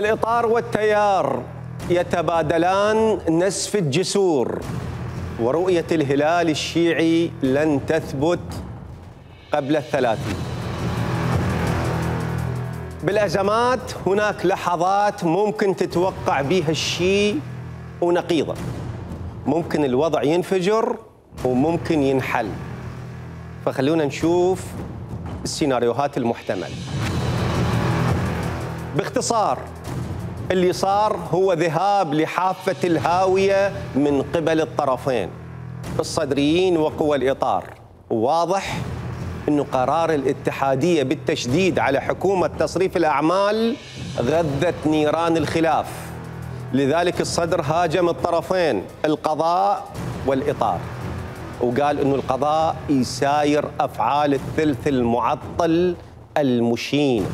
الإطار والتيار يتبادلان نسف الجسور، ورؤية الهلال الشيعي لن تثبت قبل 30. بالأزمات هناك لحظات ممكن تتوقع بها الشيء ونقيضه، ممكن الوضع ينفجر وممكن ينحل. فخلونا نشوف السيناريوهات المحتملة. باختصار، اللي صار هو ذهاب لحافة الهاوية من قبل الطرفين الصدريين وقوى الإطار. واضح أنه قرار الاتحادية بالتشديد على حكومة تصريف الأعمال غذت نيران الخلاف، لذلك الصدر هاجم الطرفين القضاء والإطار، وقال أنه القضاء يساير أفعال الثلث المعطل المشين،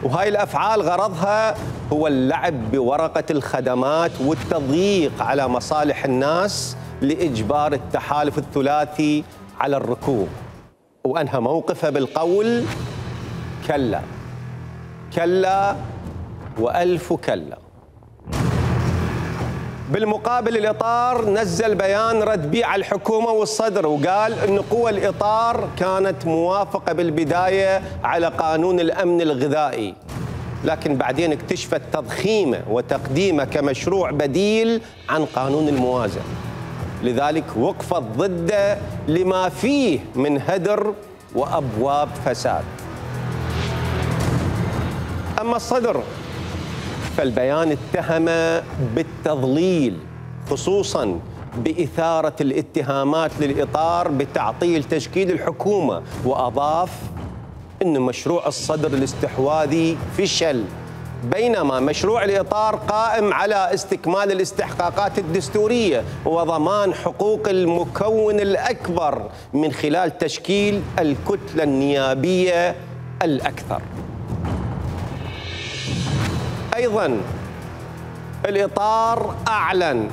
وهاي الأفعال غرضها هو اللعب بورقة الخدمات والتضييق على مصالح الناس لإجبار التحالف الثلاثي على الركوب. وأنهى موقفه بالقول: كلا كلا وألف كلا. بالمقابل الإطار نزل بيان رد بيه على الحكومة والصدر، وقال أن قوى الإطار كانت موافقة بالبداية على قانون الأمن الغذائي، لكن بعدين اكتشفت تضخيمه وتقديمه كمشروع بديل عن قانون الموازنة، لذلك وقفت ضده لما فيه من هدر وأبواب فساد. أما الصدر فالبيان اتهم بالتضليل، خصوصاً بإثارة الاتهامات للإطار بتعطيل تشكيل الحكومة، وأضاف أن مشروع الصدر الاستحواذي فشل، بينما مشروع الإطار قائم على استكمال الاستحقاقات الدستورية وضمان حقوق المكون الأكبر من خلال تشكيل الكتلة النيابية الأكثر. أيضاً الإطار أعلن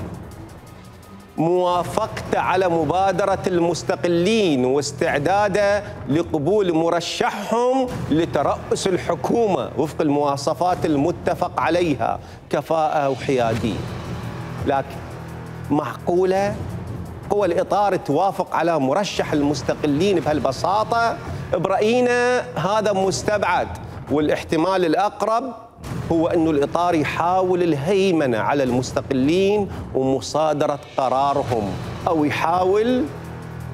موافقته على مبادرة المستقلين واستعداده لقبول مرشحهم لترأس الحكومة وفق المواصفات المتفق عليها: كفاءة وحيادية. لكن معقولة قوى الإطار توافق على مرشح المستقلين بهالبساطة؟ برأينا هذا مستبعد، والاحتمال الأقرب هو أن الإطار يحاول الهيمنة على المستقلين ومصادرة قرارهم، أو يحاول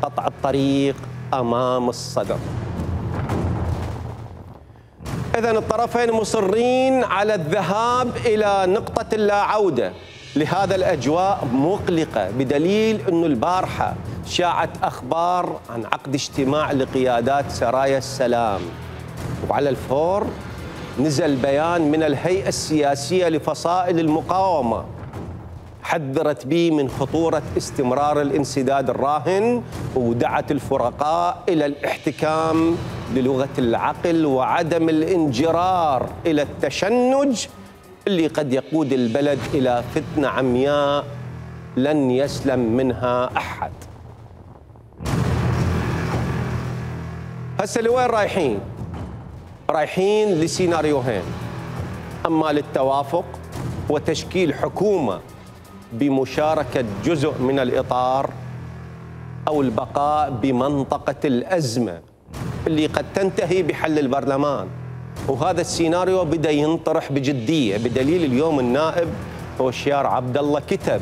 قطع الطريق أمام الصدر. إذن الطرفين مصرين على الذهاب إلى نقطة اللا عودة. لهذا الأجواء مقلقة، بدليل أن البارحة شاعت أخبار عن عقد اجتماع لقيادات سرايا السلام، وعلى الفور نزل بيان من الهيئة السياسية لفصائل المقاومة حذرت به من خطورة استمرار الانسداد الراهن، ودعت الفرقاء إلى الاحتكام للغة العقل وعدم الانجرار إلى التشنج اللي قد يقود البلد إلى فتنة عمياء لن يسلم منها أحد. هسه لوين رايحين؟ رايحين لسيناريوهين: أما للتوافق وتشكيل حكومة بمشاركة جزء من الإطار، أو البقاء بمنطقة الأزمة اللي قد تنتهي بحل البرلمان. وهذا السيناريو بدأ ينطرح بجدية، بدليل اليوم النائب هوشيار عبد الله كتب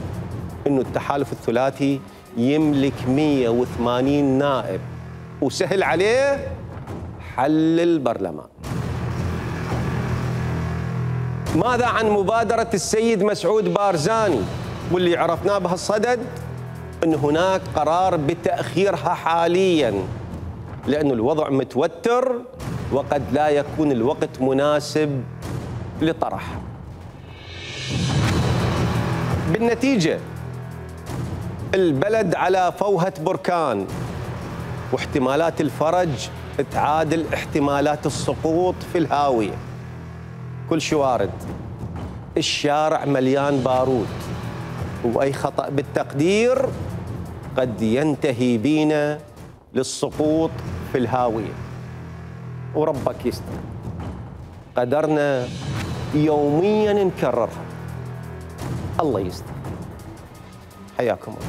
إنه التحالف الثلاثي يملك 180 نائب وسهل عليه حل البرلمان. ماذا عن مبادرة السيد مسعود بارزاني واللي عرفناه بهالصدد أن هناك قرار بتأخيرها حالياً لأن الوضع متوتر وقد لا يكون الوقت مناسب لطرحها. بالنتيجة البلد على فوهة بركان، واحتمالات الفرج تعادل احتمالات السقوط في الهاوية. كل شيء وارد، الشارع مليان بارود، وأي خطأ بالتقدير قد ينتهي بينا للسقوط في الهاوية. وربك يستر، قدرنا يوميا نكررها. الله يستر. حياكم الله.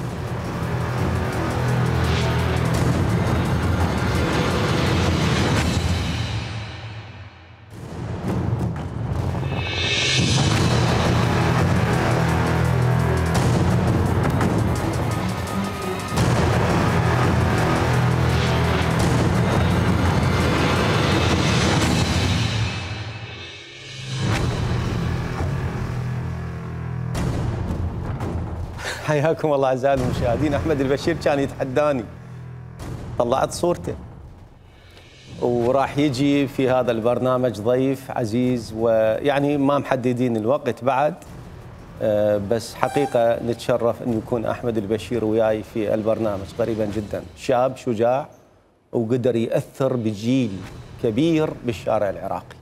حياكم الله اعزائي المشاهدين. احمد البشير كان يتحداني، طلعت صورته، وراح يجي في هذا البرنامج ضيف عزيز، ويعني ما محددين الوقت بعد، بس حقيقه نتشرف ان يكون احمد البشير وياي في البرنامج قريبا جدا. شاب شجاع وقدر ياثر بجيل كبير بالشارع العراقي.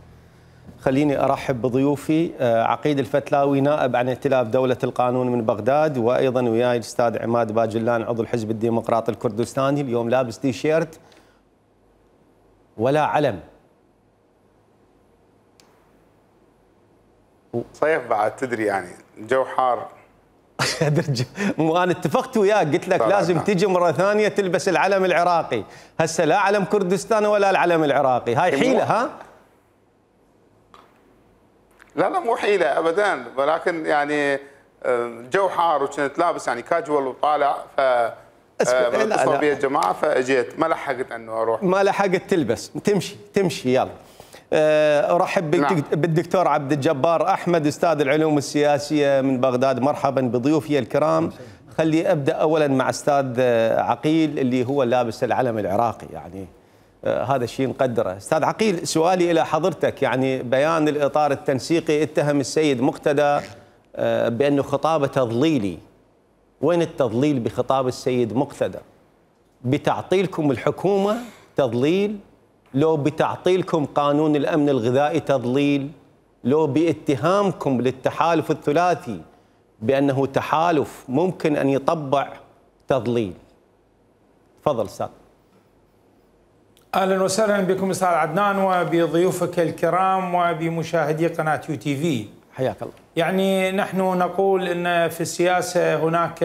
خليني أرحب بضيوفي. عقيد الفتلاوي نائب عن ائتلاف دولة القانون من بغداد، وأيضا وياي الأستاذ عماد باجلان عضو الحزب الديمقراطي الكردستاني. اليوم لابس تي شيرت ولا علم. صيف بعد تدري يعني الجو حار. أنا اتفقت وياك قلت لك لازم تجي مرة ثانية تلبس العلم العراقي. هسه لا علم كردستان ولا العلم العراقي، هاي حيلة ها؟ لا مو حيلة أبدا، ولكن يعني الجو حار وكنت لابس يعني كاجوال وطالع، ف اتصلوا بي الجماعة فأجيت، ما لحقت أنه أروح. ما لحقت تلبس، تمشي يلا. أرحب بالدكتور عبد الجبار أحمد أستاذ العلوم السياسية من بغداد. مرحبا بضيوفي الكرام. خلي أبدأ أولا مع أستاذ عقيل اللي هو لابس العلم العراقي، يعني هذا الشيء نقدره. أستاذ عقيل، سؤالي إلى حضرتك، يعني بيان الإطار التنسيقي اتهم السيد مقتدى بأنه خطابه تضليلي. وين التضليل بخطاب السيد مقتدى؟ بتعطيلكم الحكومة تضليل؟ لو بتعطيلكم قانون الأمن الغذائي تضليل؟ لو باتهامكم للتحالف الثلاثي بأنه تحالف ممكن أن يطبع تضليل؟ تفضل أستاذ. اهلا وسهلا بكم استاذ عدنان وبضيوفك الكرام وبمشاهدي قناه يو تي في. حياك الله. يعني نحن نقول ان في السياسه هناك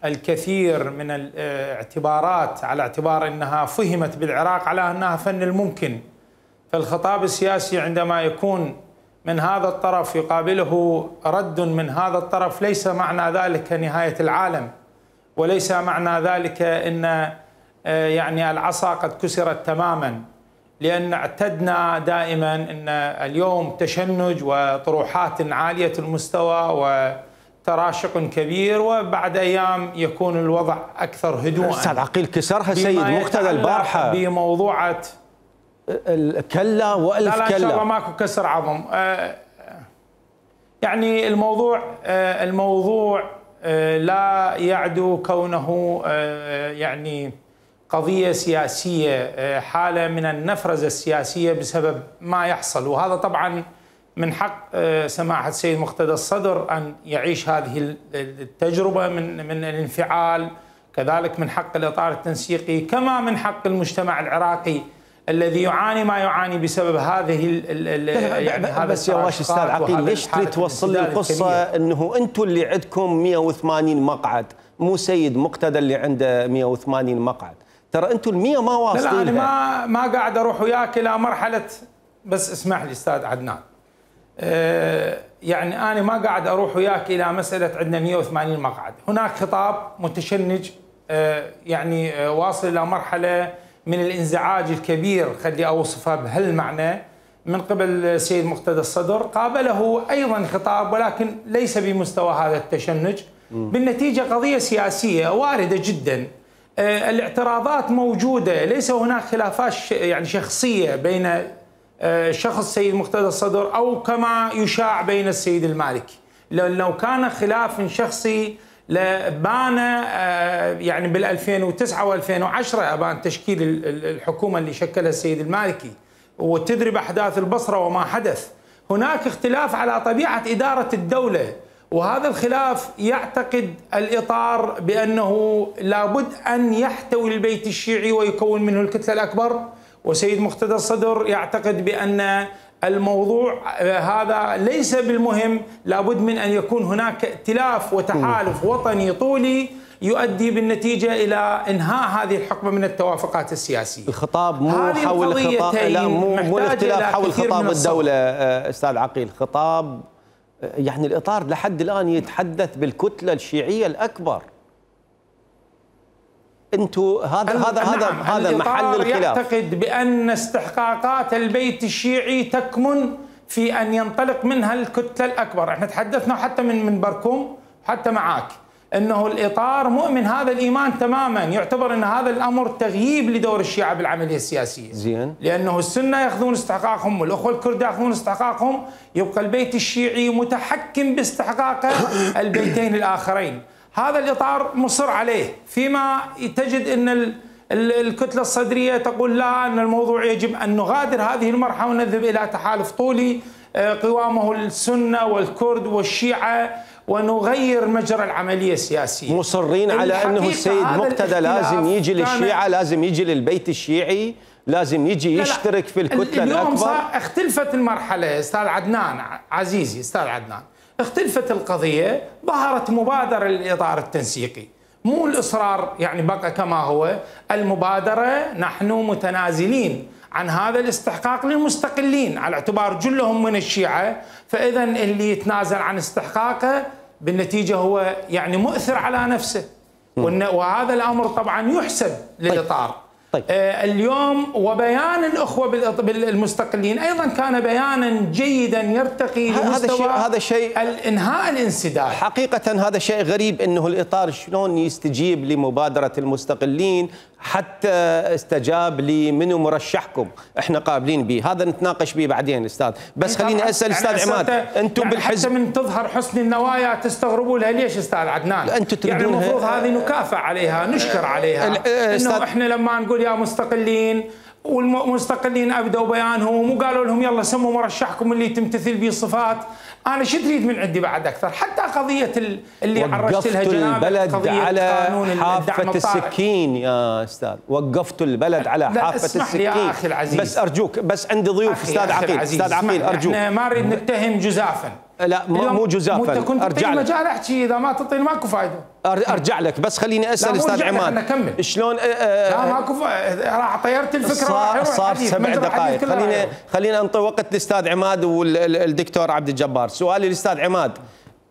الكثير من الاعتبارات على اعتبار انها فهمت بالعراق على انها فن الممكن. فالخطاب السياسي عندما يكون من هذا الطرف يقابله رد من هذا الطرف ليس معنى ذلك نهايه العالم، وليس معنى ذلك ان يعني العصا قد كسرت تماما، لأن اعتدنا دائما أن اليوم تشنج وطروحات عالية المستوى وتراشق كبير، وبعد أيام يكون الوضع أكثر هدوءا. أستاذ عقيل كسرها سيد مقتدى البارحة بموضوعة الكلا وألف كلا. لا إن شاء الله ماكو كسر عظم. يعني الموضوع لا يعدو كونه يعني قضية سياسية، حالة من النفرزة السياسية بسبب ما يحصل، وهذا طبعا من حق سماحة السيد مقتدى الصدر أن يعيش هذه التجربة من الانفعال، كذلك من حق الإطار التنسيقي، كما من حق المجتمع العراقي الذي يعاني ما يعاني بسبب هذه يعني هذا بس يا واش استاذ عقيل، ليش تريد توصل لي القصة انه انتم اللي عندكم 180 مقعد، مو سيد مقتدى اللي عنده 180 مقعد؟ ترى انتم ال100 ما واصلين. لا انا ما قاعد اروح وياك الى مرحله، بس اسمح لي استاذ عدنان، يعني انا ما قاعد اروح وياك الى مساله عندنا 180 مقعد، هناك خطاب متشنج يعني واصل الى مرحله من الانزعاج الكبير، خلي اوصفها بهالمعنى، من قبل السيد مقتدى الصدر. قابله ايضا خطاب ولكن ليس بمستوى هذا التشنج. بالنتيجه قضيه سياسيه وارده جدا، الاعتراضات موجودة، ليس هناك خلافات يعني شخصية بين شخص السيد مقتدى الصدر أو كما يشاع بين السيد المالكي. لو كان خلاف شخصي لبان يعني بال 2009 و2010 أبان تشكيل الحكومة اللي شكلها السيد المالكي، وتدري بأحداث البصرة وما حدث. هناك اختلاف على طبيعة إدارة الدولة، وهذا الخلاف يعتقد الإطار بأنه لابد أن يحتوي البيت الشيعي ويكون منه الكتلة الأكبر، وسيد مقتدى الصدر يعتقد بأن الموضوع هذا ليس بالمهم، لابد من أن يكون هناك ائتلاف وتحالف وطني طولي يؤدي بالنتيجة إلى إنهاء هذه الحقبة من التوافقات السياسية. الخطاب مو حول الخطاب، لا مو الاختلاف حول خطاب الدولة أستاذ عقيل، خطاب يعني الإطار لحد الآن يتحدث بالكتلة الشيعية الأكبر. انتم هذا محل الخلاف. يعتقد بأن استحقاقات البيت الشيعي تكمن في أن ينطلق منها الكتلة الأكبر. احنا تحدثنا حتى من بركم حتى معاك أنه الإطار مؤمن هذا الإيمان تماما، يعتبر أن هذا الأمر تغييب لدور الشيعة بالعملية السياسية. زين. لأنه السنة يأخذون استحقاقهم والأخوة الكرد يأخذون استحقاقهم، يبقى البيت الشيعي متحكم باستحقاق البيتين الآخرين. هذا الإطار مصر عليه، فيما تجد أن الكتلة الصدرية تقول لا، أن الموضوع يجب أن نغادر هذه المرحلة ونذهب إلى تحالف طولي قوامه السنة والكرد والشيعة ونغير مجرى العملية السياسية. مصرين على أنه السيد مقتدى لازم يجي للشيعة، لازم يجي للبيت الشيعي، لازم يجي يشترك في الكتلة الأكبر. اليوم اختلفت المرحلة أستاذ عدنان عزيزي، أستاذ عدنان، اختلفت القضية، ظهرت مبادرة للإطار التنسيقي، مو الإصرار يعني بقى كما هو. المبادرة نحن متنازلين عن هذا الاستحقاق للمستقلين على اعتبار جلهم من الشيعة، فإذا اللي يتنازل عن استحقاقه بالنتيجة هو يعني مؤثر على نفسه، وهذا الأمر طبعا يحسب للإطار. طيب. اليوم وبيان الأخوة المستقلين أيضا كان بيانا جيدا يرتقي لمستوى هذا شيء إنهاء الانسداد. حقيقة هذا شيء غريب أنه الإطار شلون يستجيب لمبادرة المستقلين حتى استجاب لمنو مرشحكم، احنا قابلين به، هذا نتناقش به بعدين استاذ، بس خليني اسال استاذ عماد، انتم يعني بالحزب حتى من تظهر حسن النوايا تستغربوا لها ليش استاذ عدنان؟ انتم يعني المفروض هذه نكافئ عليها، نشكر عليها، انه احنا لما نقول يا مستقلين والمستقلين ابدوا بيانهم وقالوا لهم يلا سموا مرشحكم اللي تمتثل به الصفات، انا شو تريد من عندي بعد اكثر؟ حتى قضيه اللي عرجت لها جنابك، البلد على حافه السكين يا استاذ، وقفتوا البلد على حافه السكين يا اخي العزيز، بس ارجوك، بس عندي ضيوف استاذ عقيل، استاذ عقيل ارجوك، احنا ما نريد نتهم جزافا، لا مو جزافا، ارجع لك مجال احكي، اذا ما تعطيني ماكو فايده. ارجع لك، بس خليني اسال استاذ عماد شلون لا ماكو راح طيرت الفكره، صار 7 دقائق، خلينا نعطي وقت للاستاذ عماد والدكتور عبد الجبار. سؤالي للاستاذ عماد،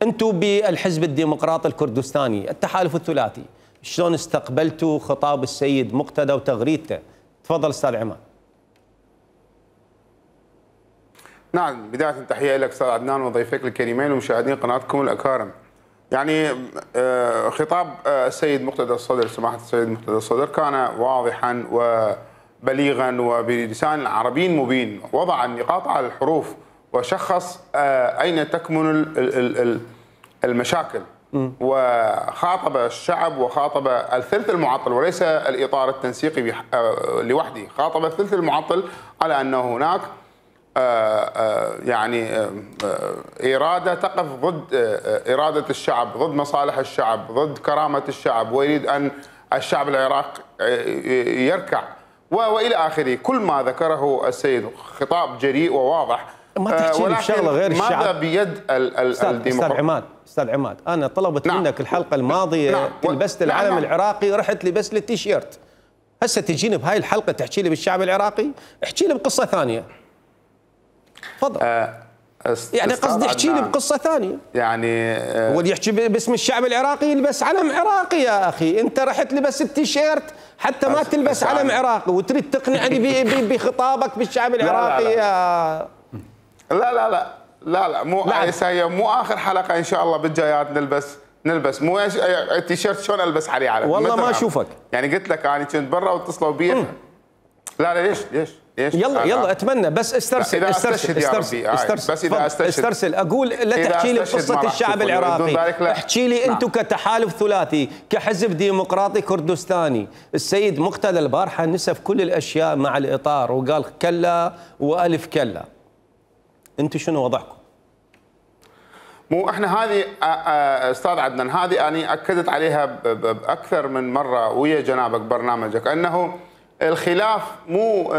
انتم بالحزب الديمقراطي الكردستاني التحالف الثلاثي شلون استقبلتوا خطاب السيد مقتدى وتغريدته؟ تفضل استاذ عماد. نعم، بداية تحية لك استاذ عدنان وضيفك الكريمين ومشاهدين قناتكم الأكارم. يعني خطاب السيد مقتدى الصدر، سماحة السيد مقتدى الصدر، كان واضحا وبليغا وبلسان عربي مبين، وضع النقاط على الحروف وشخص أين تكمن المشاكل، وخاطب الشعب وخاطب الثلث المعطل وليس الإطار التنسيقي لوحده، خاطب الثلث المعطل على أنه هناك يعني إرادة تقف ضد إرادة الشعب، ضد مصالح الشعب، ضد كرامة الشعب، ويريد أن الشعب العراقي يركع وإلى آخره. كل ما ذكره السيد خطاب جريء وواضح، ما تحكي لي بشغله غير الشعب. ماذا بيد الديمقراطية؟ استاذ عماد، انا طلبت منك الحلقه الماضيه لبست العلم العراقي، رحت لبست لي التيشيرت، هسه تجيني بهاي الحلقه تحكي لي بالشعب العراقي؟ احكي لي بقصه ثانيه. تفضل. يعني قصدي احكي لي بقصه ثانيه. يعني هو اللي يحكي باسم الشعب العراقي يلبس علم عراقي يا اخي، انت رحت لبست التيشيرت حتى ما تلبس علم عراقي وتريد تقنعني بخطابك بالشعب العراقي. لا لا لا لا لا مو هي مو اخر حلقه ان شاء الله بالجايات نلبس مو التيشيرت شلون البس عليه علم والله ما اشوفك. يعني قلت لك انا كنت برا واتصلوا بي. لا ليش يلا اتمنى بس استرسل بس اذا استرسل اقول لا تحكي لي بقصه الشعب العراقي، احكي لي انتم كتحالف ثلاثي كحزب ديمقراطي كردستاني. السيد مقتدى البارحه نسف كل الاشياء مع الاطار وقال كلا والف كلا، انتم شنو وضعكم؟ مو احنا هذه استاذ عدنان، هذه انا اكدت عليها باكثر من مره ويا جنابك برنامجك، انه الخلاف مو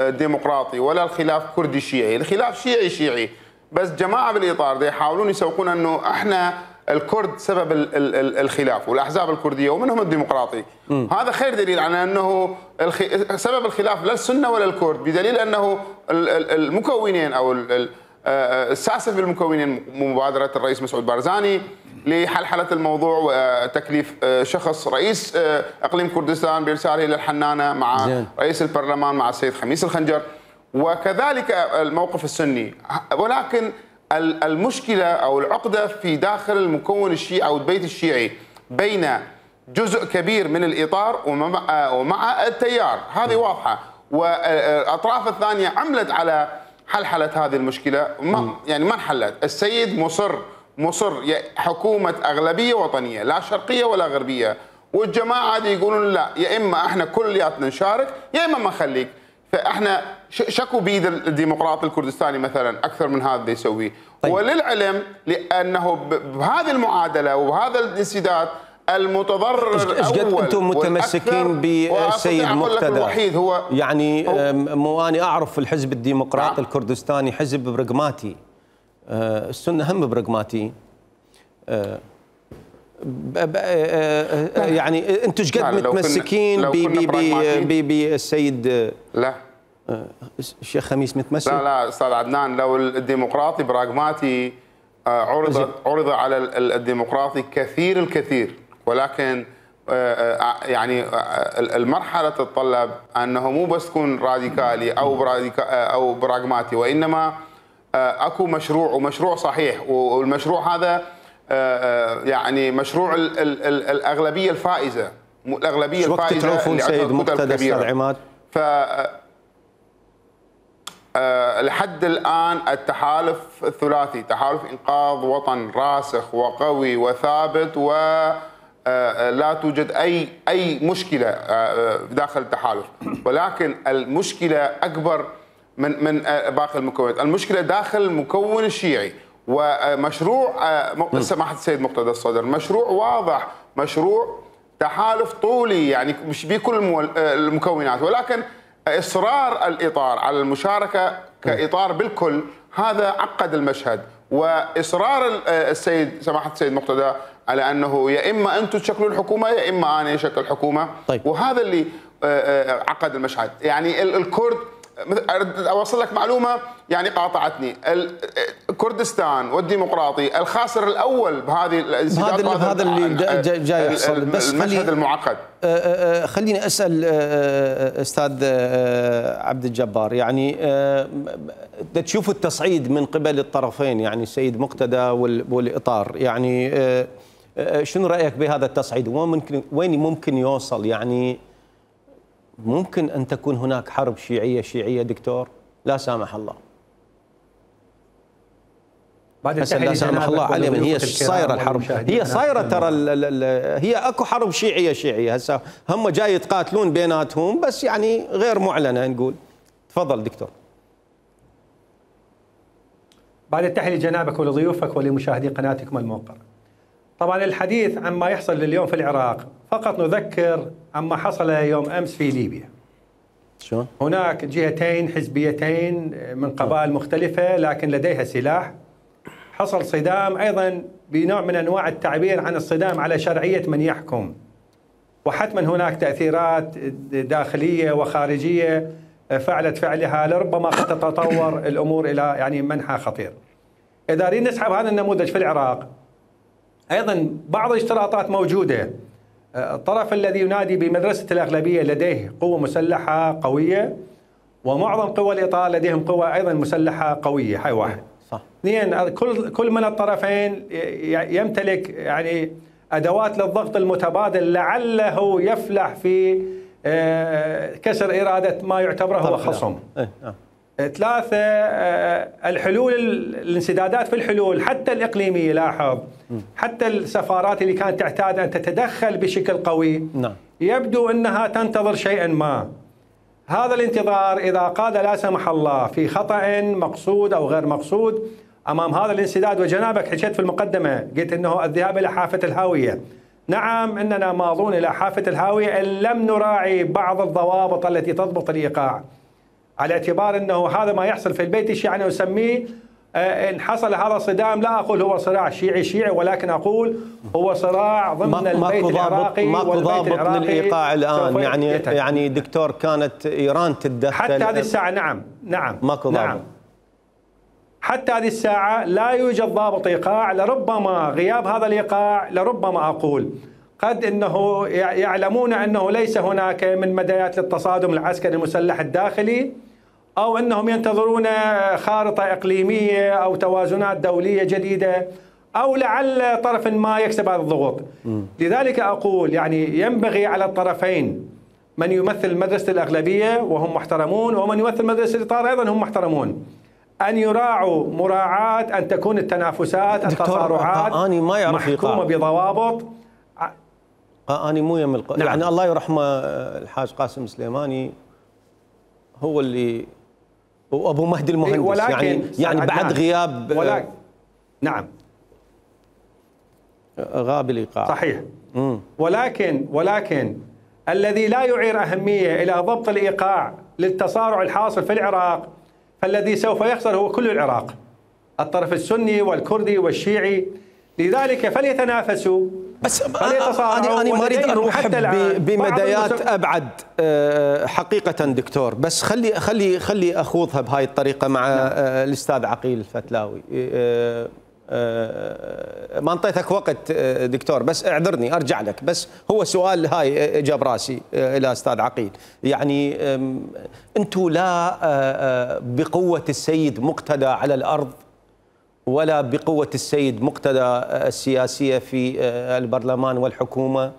ديمقراطي ولا الخلاف كردي شيعي، الخلاف شيعي شيعي، بس جماعه بالاطار دي يحاولون يسوقون انه احنا الكرد سبب الخلاف والاحزاب الكرديه ومنهم الديمقراطي. هذا خير دليل على انه سبب الخلاف لا السنه ولا الكرد، بدليل انه المكونين او الساسه في المكونين مبادره الرئيس مسعود بارزاني لحلحله الموضوع وتكليف شخص رئيس اقليم كردستان بارساله الى الحنانه مع رئيس البرلمان مع السيد خميس الخنجر، وكذلك الموقف السني. ولكن المشكله او العقده في داخل المكون الشيعي او البيت الشيعي بين جزء كبير من الاطار ومع التيار، هذه واضحه، والاطراف الثانيه عملت على حلحله هذه المشكله، يعني ما انحلت. السيد مصر حكومه اغلبيه وطنيه لا شرقيه ولا غربيه، والجماعه دي يقولون لا، يا اما احنا كلياتنا نشارك يا اما ما نخليك. فاحنا شكوا بيد الديمقراطي الكردستاني مثلا اكثر من هذا اللي يسويه. طيب. وللعلم لانه بهذه المعادله وبهذا الانسداد المتضرر الاول انتم متمسكين بالسيد مقتدى الوحيد هو يعني مو اني اعرف الحزب الديمقراطي الكردستاني حزب برغماتي، السنه هم برغماتي، يعني انتم ايش قد متمسكين بالسيد؟ لا الشيخ خميس متمسك؟ لا استاذ عدنان، لو الديمقراطي براغماتي عرض على الديمقراطي الكثير، ولكن يعني المرحله تتطلب انه مو بس تكون راديكالي او براغماتي، وانما اكو مشروع ومشروع صحيح، والمشروع هذا يعني مشروع الاغلبيه الفائزه، الاغلبيه الفائزه تعرفون سيد مقتدى استاذ عماد؟ لحد الآن التحالف الثلاثي، تحالف إنقاذ وطن راسخ وقوي وثابت، ولا توجد أي مشكلة داخل التحالف، ولكن المشكلة أكبر من باقي المكونات، المشكلة داخل المكون الشيعي. ومشروع سماحة السيد مقتدى الصدر مشروع واضح، مشروع تحالف طولي يعني مش بكل المكونات، ولكن إصرار الإطار على المشاركة كإطار بالكل هذا عقد المشهد، وإصرار السيد سماحة السيد مقتدى على أنه يا إما أنتم تشكلون الحكومة يا إما أنا أشكل الحكومة. طيب. وهذا اللي عقد المشهد. يعني الكرد، أوصل لك معلومة يعني قاطعتني، كردستان والديمقراطي الخاسر الأول بهذه هذا اللي جاي يحصل، بس المشهد المعقد. خليني أسأل أستاذ عبد الجبار، يعني تشوف التصعيد من قبل الطرفين، يعني السيد مقتدى والإطار، يعني شنو رأيك بهذا التصعيد؟ وين ممكن يوصل؟ يعني ممكن أن تكون هناك حرب شيعية دكتور؟ لا سامح الله. لا سامح الله علي، من هي صايره الحرب، هي صايره ترى هي اكو حرب شيعيه هسه هم جاي يتقاتلون بيناتهم، بس يعني غير معلنه نقول. تفضل دكتور. بعد التحيه لجنابك ولضيوفك ولمشاهدي قناتكم الموقرة. طبعا الحديث عما يحصل اليوم في العراق فقط نذكر عما حصل يوم امس في ليبيا. شلون؟ هناك جهتين حزبيتين من قبائل مختلفه لكن لديها سلاح. حصل صدام ايضا بنوع من انواع التعبير عن الصدام على شرعيه من يحكم، وحتما هناك تاثيرات داخليه وخارجيه فعلت فعلها، لربما قد تتطور الامور الى يعني منحى خطير. اذا اريد نسحب هذا النموذج في العراق، ايضا بعض الاشتراطات موجوده. الطرف الذي ينادي بمدرسه الاغلبيه لديه قوه مسلحه قويه، ومعظم قوى الاطار لديهم قوه ايضا مسلحه قويه، هاي واحد. صح. اثنين، كل من الطرفين يمتلك يعني ادوات للضغط المتبادل لعله يفلح في كسر اراده ما يعتبره هو خصم. ثلاثه، الحلول، الانسدادات في الحلول حتى الاقليميه، لاحظ حتى السفارات اللي كانت تعتاد ان تتدخل بشكل قوي يبدو انها تنتظر شيئا ما. هذا الانتظار اذا قاد لا سمح الله في خطأ مقصود او غير مقصود امام هذا الانسداد، وجنابك حكيت في المقدمه قلت انه الذهاب الى حافه الهاويه نعم اننا ماضون الى حافه الهاويه ان لم نراعي بعض الضوابط التي تضبط الايقاع، على اعتبار انه هذا ما يحصل في البيت الشيعي انا اسميه ان حصل هذا الصدام لا اقول هو صراع شيعي ولكن اقول هو صراع ضمن البيت العراقي ماكو ضابط للايقاع الان. يعني دكتور كانت ايران تتدخل حتى هذه الساعه. نعم ماكو ضابط. حتى هذه الساعه لا يوجد ضابط ايقاع. لربما غياب هذا الايقاع لربما اقول قد انه يعلمون انه ليس هناك من بدايات للتصادم العسكري المسلح الداخلي، أو أنهم ينتظرون خارطة إقليمية أو توازنات دولية جديدة، أو لعل طرف ما يكسب هذا الضغوط. لذلك أقول يعني ينبغي على الطرفين، من يمثل مدرسة الأغلبية وهم محترمون ومن يمثل مدرسة الإطار أيضا هم محترمون، أن يراعوا مراعاة أن تكون التنافسات التصارعات محكومة بضوابط. أنا مو يم يعني الله يرحمه الحاج قاسم سليماني هو اللي وابو مهدي المهندس يعني بعد غياب نعم غاب الايقاع صحيح. ولكن الذي لا يعير اهميه الى ضبط الايقاع للتصارع الحاصل في العراق، فالذي سوف يخسر هو كل العراق، الطرف السني والكردي والشيعي. لذلك فليتنافسوا بس أنا ما أريد أروح بمدايات أبعد حقيقة دكتور، بس خلي أخوضها بهاي الطريقة مع الأستاذ عقيل الفتلاوي. ما انطيتك وقت دكتور، بس اعذرني أرجع لك، بس هو سؤال هاي جاب راسي إلى أستاذ عقيل. يعني أنتم لا بقوة السيد مقتدى على الأرض ولا بقوة السيد مقتدى السياسية في البرلمان والحكومة،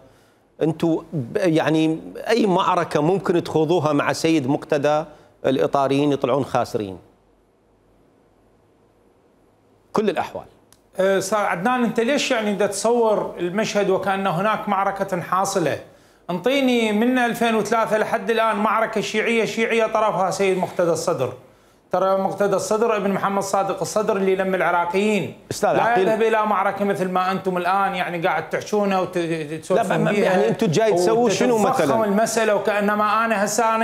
أنتم يعني أي معركة ممكن تخوضوها مع سيد مقتدى الإطاريين يطلعون خاسرين كل الأحوال. صار عدنان أنت ليش يعني تتصور المشهد وكأن هناك معركة حاصلة؟ انطيني من 2003 لحد الآن معركة شيعية طرفها سيد مقتدى الصدر. ترى مقتدى الصدر ابن محمد صادق الصدر اللي لم العراقيين لا يذهب الى معركه مثل ما انتم الان يعني قاعد تحشونه وتسولفون بيها. يعني انتم جاي تسووا شنو مثلا؟ المساله وكانما انا هسه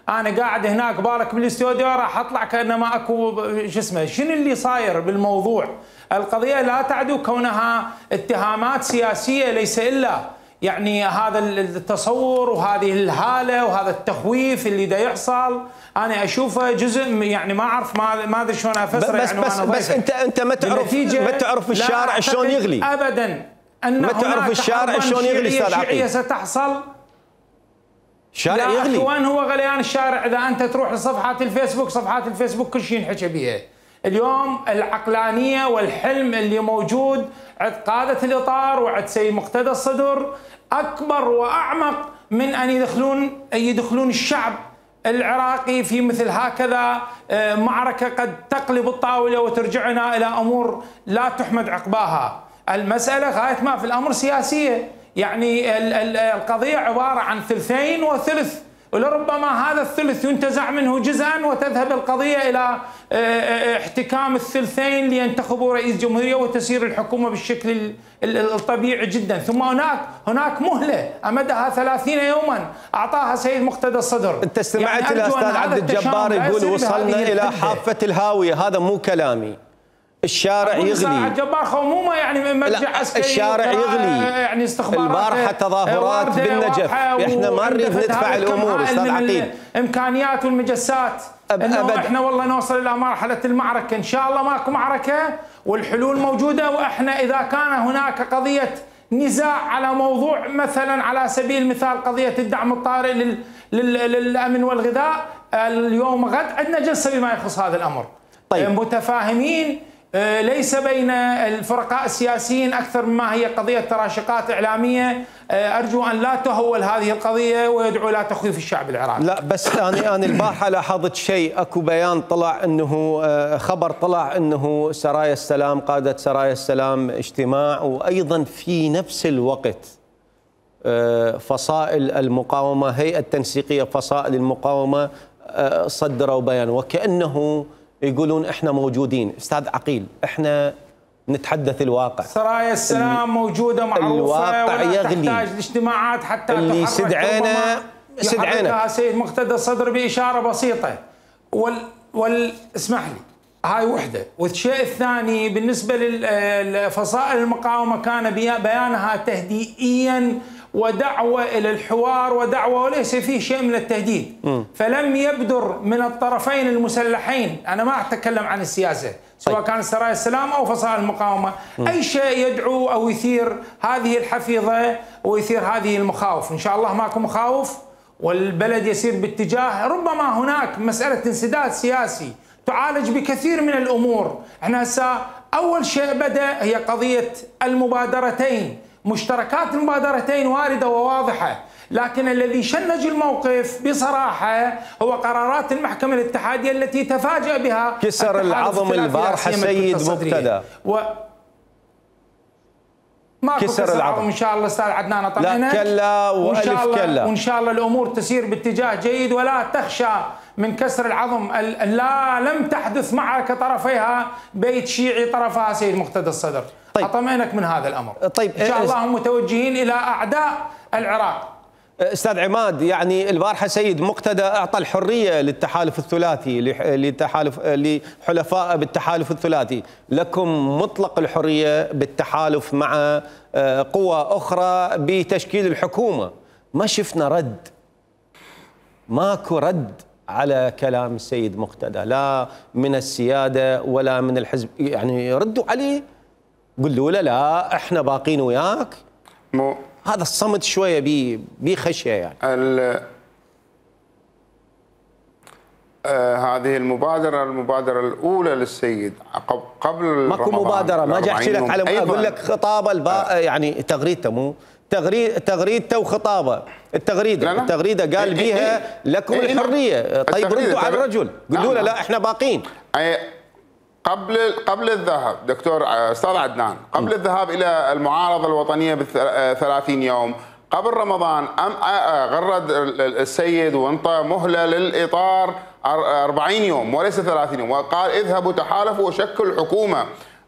انا قاعد هناك بارك بالاستوديو راح اطلع كانما اكو شو اسمه، شنو اللي صاير بالموضوع؟ القضيه لا تعدو كونها اتهامات سياسيه، ليس الا يعني هذا التصور وهذه الهاله وهذا التخويف اللي دا يحصل. انا اشوفه جزء يعني ما اعرف ما ادري شلون افسره يعني. بس انت ما تعرف الشارع شلون يغلي ابدا. ان ما تعرف الشارع شلون يغلي استاذ عقيل. ستحصل الشارع يغلي. وين هو غليان الشارع؟ اذا انت تروح لصفحات الفيسبوك كل شيء ينحكى بيها اليوم. العقلانيه والحلم اللي موجود عند قاده الاطار وعند سيد مقتدى الصدر اكبر واعمق من ان يدخلون الشعب العراقي في مثل هكذا معركة قد تقلب الطاولة وترجعنا إلى أمور لا تحمد عقباها. المسألة غاية ما في الأمر سياسية، يعني القضية عبارة عن ثلثين وثلث، ولربما هذا الثلث ينتزع منه جزءا وتذهب القضية إلى احتكام الثلثين لينتخبوا رئيس جمهورية وتسير الحكومة بالشكل الطبيعي جدا. ثم هناك مهلة أمدها 30 يوما أعطاها سيد مقتدى الصدر. أنت استمعت يعني إلى أستاذ عبد الجبار يقول وصلنا إلى حافة الهاوية، هذا مو كلامي. الشارع يغلي. الجبار خومومه يعني مرجع عسكري. الشارع يغلي يعني استخبارات. البارحة تظاهرات بالنجف، احنا ما نريد ندفع الامور استاذ عقيل. الامكانيات والمجسات انه احنا والله نوصل الى مرحلة المعركة، ان شاء الله ماكو معركة والحلول موجودة. واحنا اذا كان هناك قضية نزاع على موضوع مثلا على سبيل المثال قضية الدعم الطارئ للامن والغذاء، اليوم غد عندنا جلسة بما يخص هذا الامر. طيب. متفاهمين، ليس بين الفرقاء السياسيين أكثر مما هي قضية تراشقات إعلامية. أرجو أن لا تهول هذه القضية ويدعو إلى تخويف الشعب العراقي. لا بس أنا البارحة لاحظت شيء، أكو بيان طلع أنه خبر طلع أنه سرايا السلام قادة سرايا السلام اجتماع، وأيضا في نفس الوقت فصائل المقاومة، هيئة تنسيقية فصائل المقاومة صدروا بيان وكأنه يقولون احنا موجودين. استاذ عقيل، احنا نتحدث الواقع. سرايا السلام موجودة معروفة، الواقع ولا يغلي. تحتاج الاجتماعات حتى اللي استدعينا سيد مقتدى الصدر بإشارة بسيطة. اسمح لي، هاي وحدة. والشيء الثاني بالنسبة لفصائل المقاومة كان بيانها تهدئيا ودعوة إلى الحوار ودعوة، وليس فيه شيء من التهديد. فلم يبدر من الطرفين المسلحين، أنا ما أتكلم عن السياسة، سواء كان سرايا السلام أو فصائل المقاومة، أي شيء يدعو أو يثير هذه الحفيظة ويثير هذه المخاوف. إن شاء الله ماكو مخاوف والبلد يسير باتجاه، ربما هناك مسألة انسداد سياسي تعالج بكثير من الأمور. احنا هسه أول شيء بدأ هي قضية المبادرتين، مشتركات المبادرتين واردة وواضحة، لكن الذي شنج الموقف بصراحة هو قرارات المحكمة الاتحادية التي تفاجأ بها كسر العظم البارحة سيد مقتدى. ما كسر العظم ان شاء الله استاذ عدنان، اطمئنك. لا كلا والف كلا، وان شاء الله الامور تسير باتجاه جيد، ولا تخشى من كسر العظم. لا، لم تحدث معركة طرفيها بيت شيعي طرفها سيد مقتدى الصدر. طيب. اطمئنك من هذا الامر. طيب. ان شاء الله هم متوجهين الى اعداء العراق. استاذ عماد، يعني البارحه سيد مقتدى اعطى الحريه للتحالف الثلاثي، لحلفاء بالتحالف الثلاثي، لكم مطلق الحريه بالتحالف مع قوى اخرى بتشكيل الحكومه. ما شفنا رد، ماكو رد على كلام السيد مقتدى، لا من السياده ولا من الحزب. يعني ردوا عليه، قولوا له لا احنا باقين وياك. هذا الصمت شويه بخشيه يعني. هذه المبادره الاولى للسيد قبل ماكو مبادره، ما جاي احكي لك على اقول لك خطابه يعني تغريدته، مو تغريدته وخطابه. التغريده قال بيها لكم الحريه. طيب ردوا على الرجل، قولوا له لا احنا باقين. قبل الذهاب دكتور استاذ عدنان، قبل الذهاب الى المعارضه الوطنيه ب30 يوم قبل رمضان، غرد السيد وانطى مهله للاطار 40 يوم وليس 30 يوم، وقال اذهبوا تحالفوا وشكلوا حكومه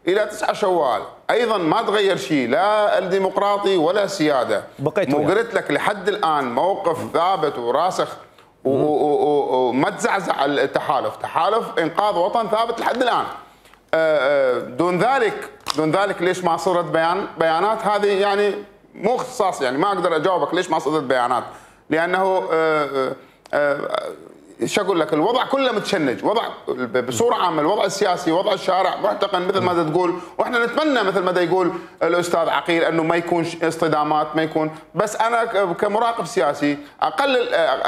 الى 9 شوال. ايضا ما تغير شيء، لا الديمقراطي ولا السياده. قلت لك لحد الان موقف ثابت وراسخ وما تزعزع التحالف، تحالف انقاذ وطن ثابت لحد الان. دون ذلك ليش ما صدرت بيانات؟ هذه يعني مو اختصاص، يعني ما اقدر اجاوبك ليش ما صدرت بيانات، لانه شو اقول لك، الوضع كله متشنج، وضع بصوره عامه، الوضع السياسي، وضع الشارع محتقن مثل ما تقول، واحنا نتمنى مثل ما يقول الاستاذ عقيل انه ما يكون اصطدامات، ما يكون، بس انا كمراقب سياسي اقل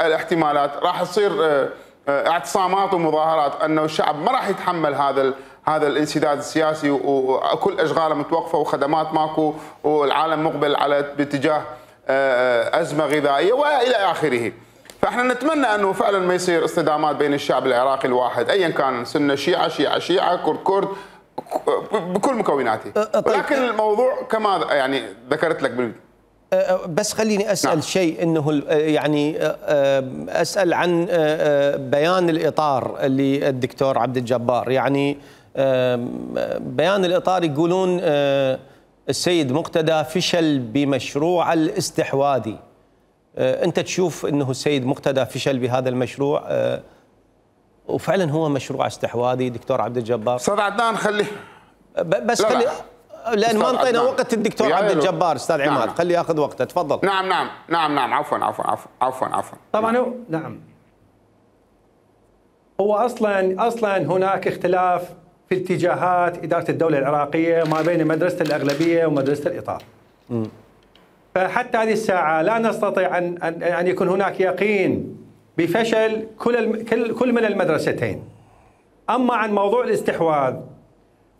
الاحتمالات راح تصير اعتصامات ومظاهرات، انه الشعب ما راح يتحمل هذا الانسداد السياسي، وكل اشغاله متوقفه وخدمات ماكو، والعالم مقبل على باتجاه ازمه غذائيه والى اخره. فاحنا نتمنى انه فعلا ما يصير اصطدامات بين الشعب العراقي الواحد ايا كان، سنه شيعه، كرد كرد، بكل مكوناته. ولكن الموضوع كما يعني ذكرت لك بس خليني اسال شيء، انه يعني اسال عن بيان الاطار اللي الدكتور عبد الجبار، يعني بيان الاطار يقولون السيد مقتدى فشل بمشروع الاستحواذي. انت تشوف انه السيد مقتدى فشل بهذا المشروع وفعلا هو مشروع استحواذي دكتور عبد الجبار؟ استاذ عدنان خليه بس خلي، لان ما انطينا وقت الدكتور عبد الجبار. استاذ عماد خليه ياخذ وقته، تفضل. نعم عفوا. طبعا هو اصلا هناك اختلاف في اتجاهات اداره الدوله العراقيه ما بين مدرسه الاغلبيه ومدرسه الاطار. فحتى هذه الساعه لا نستطيع ان يكون هناك يقين بفشل كل من المدرستين. اما عن موضوع الاستحواذ،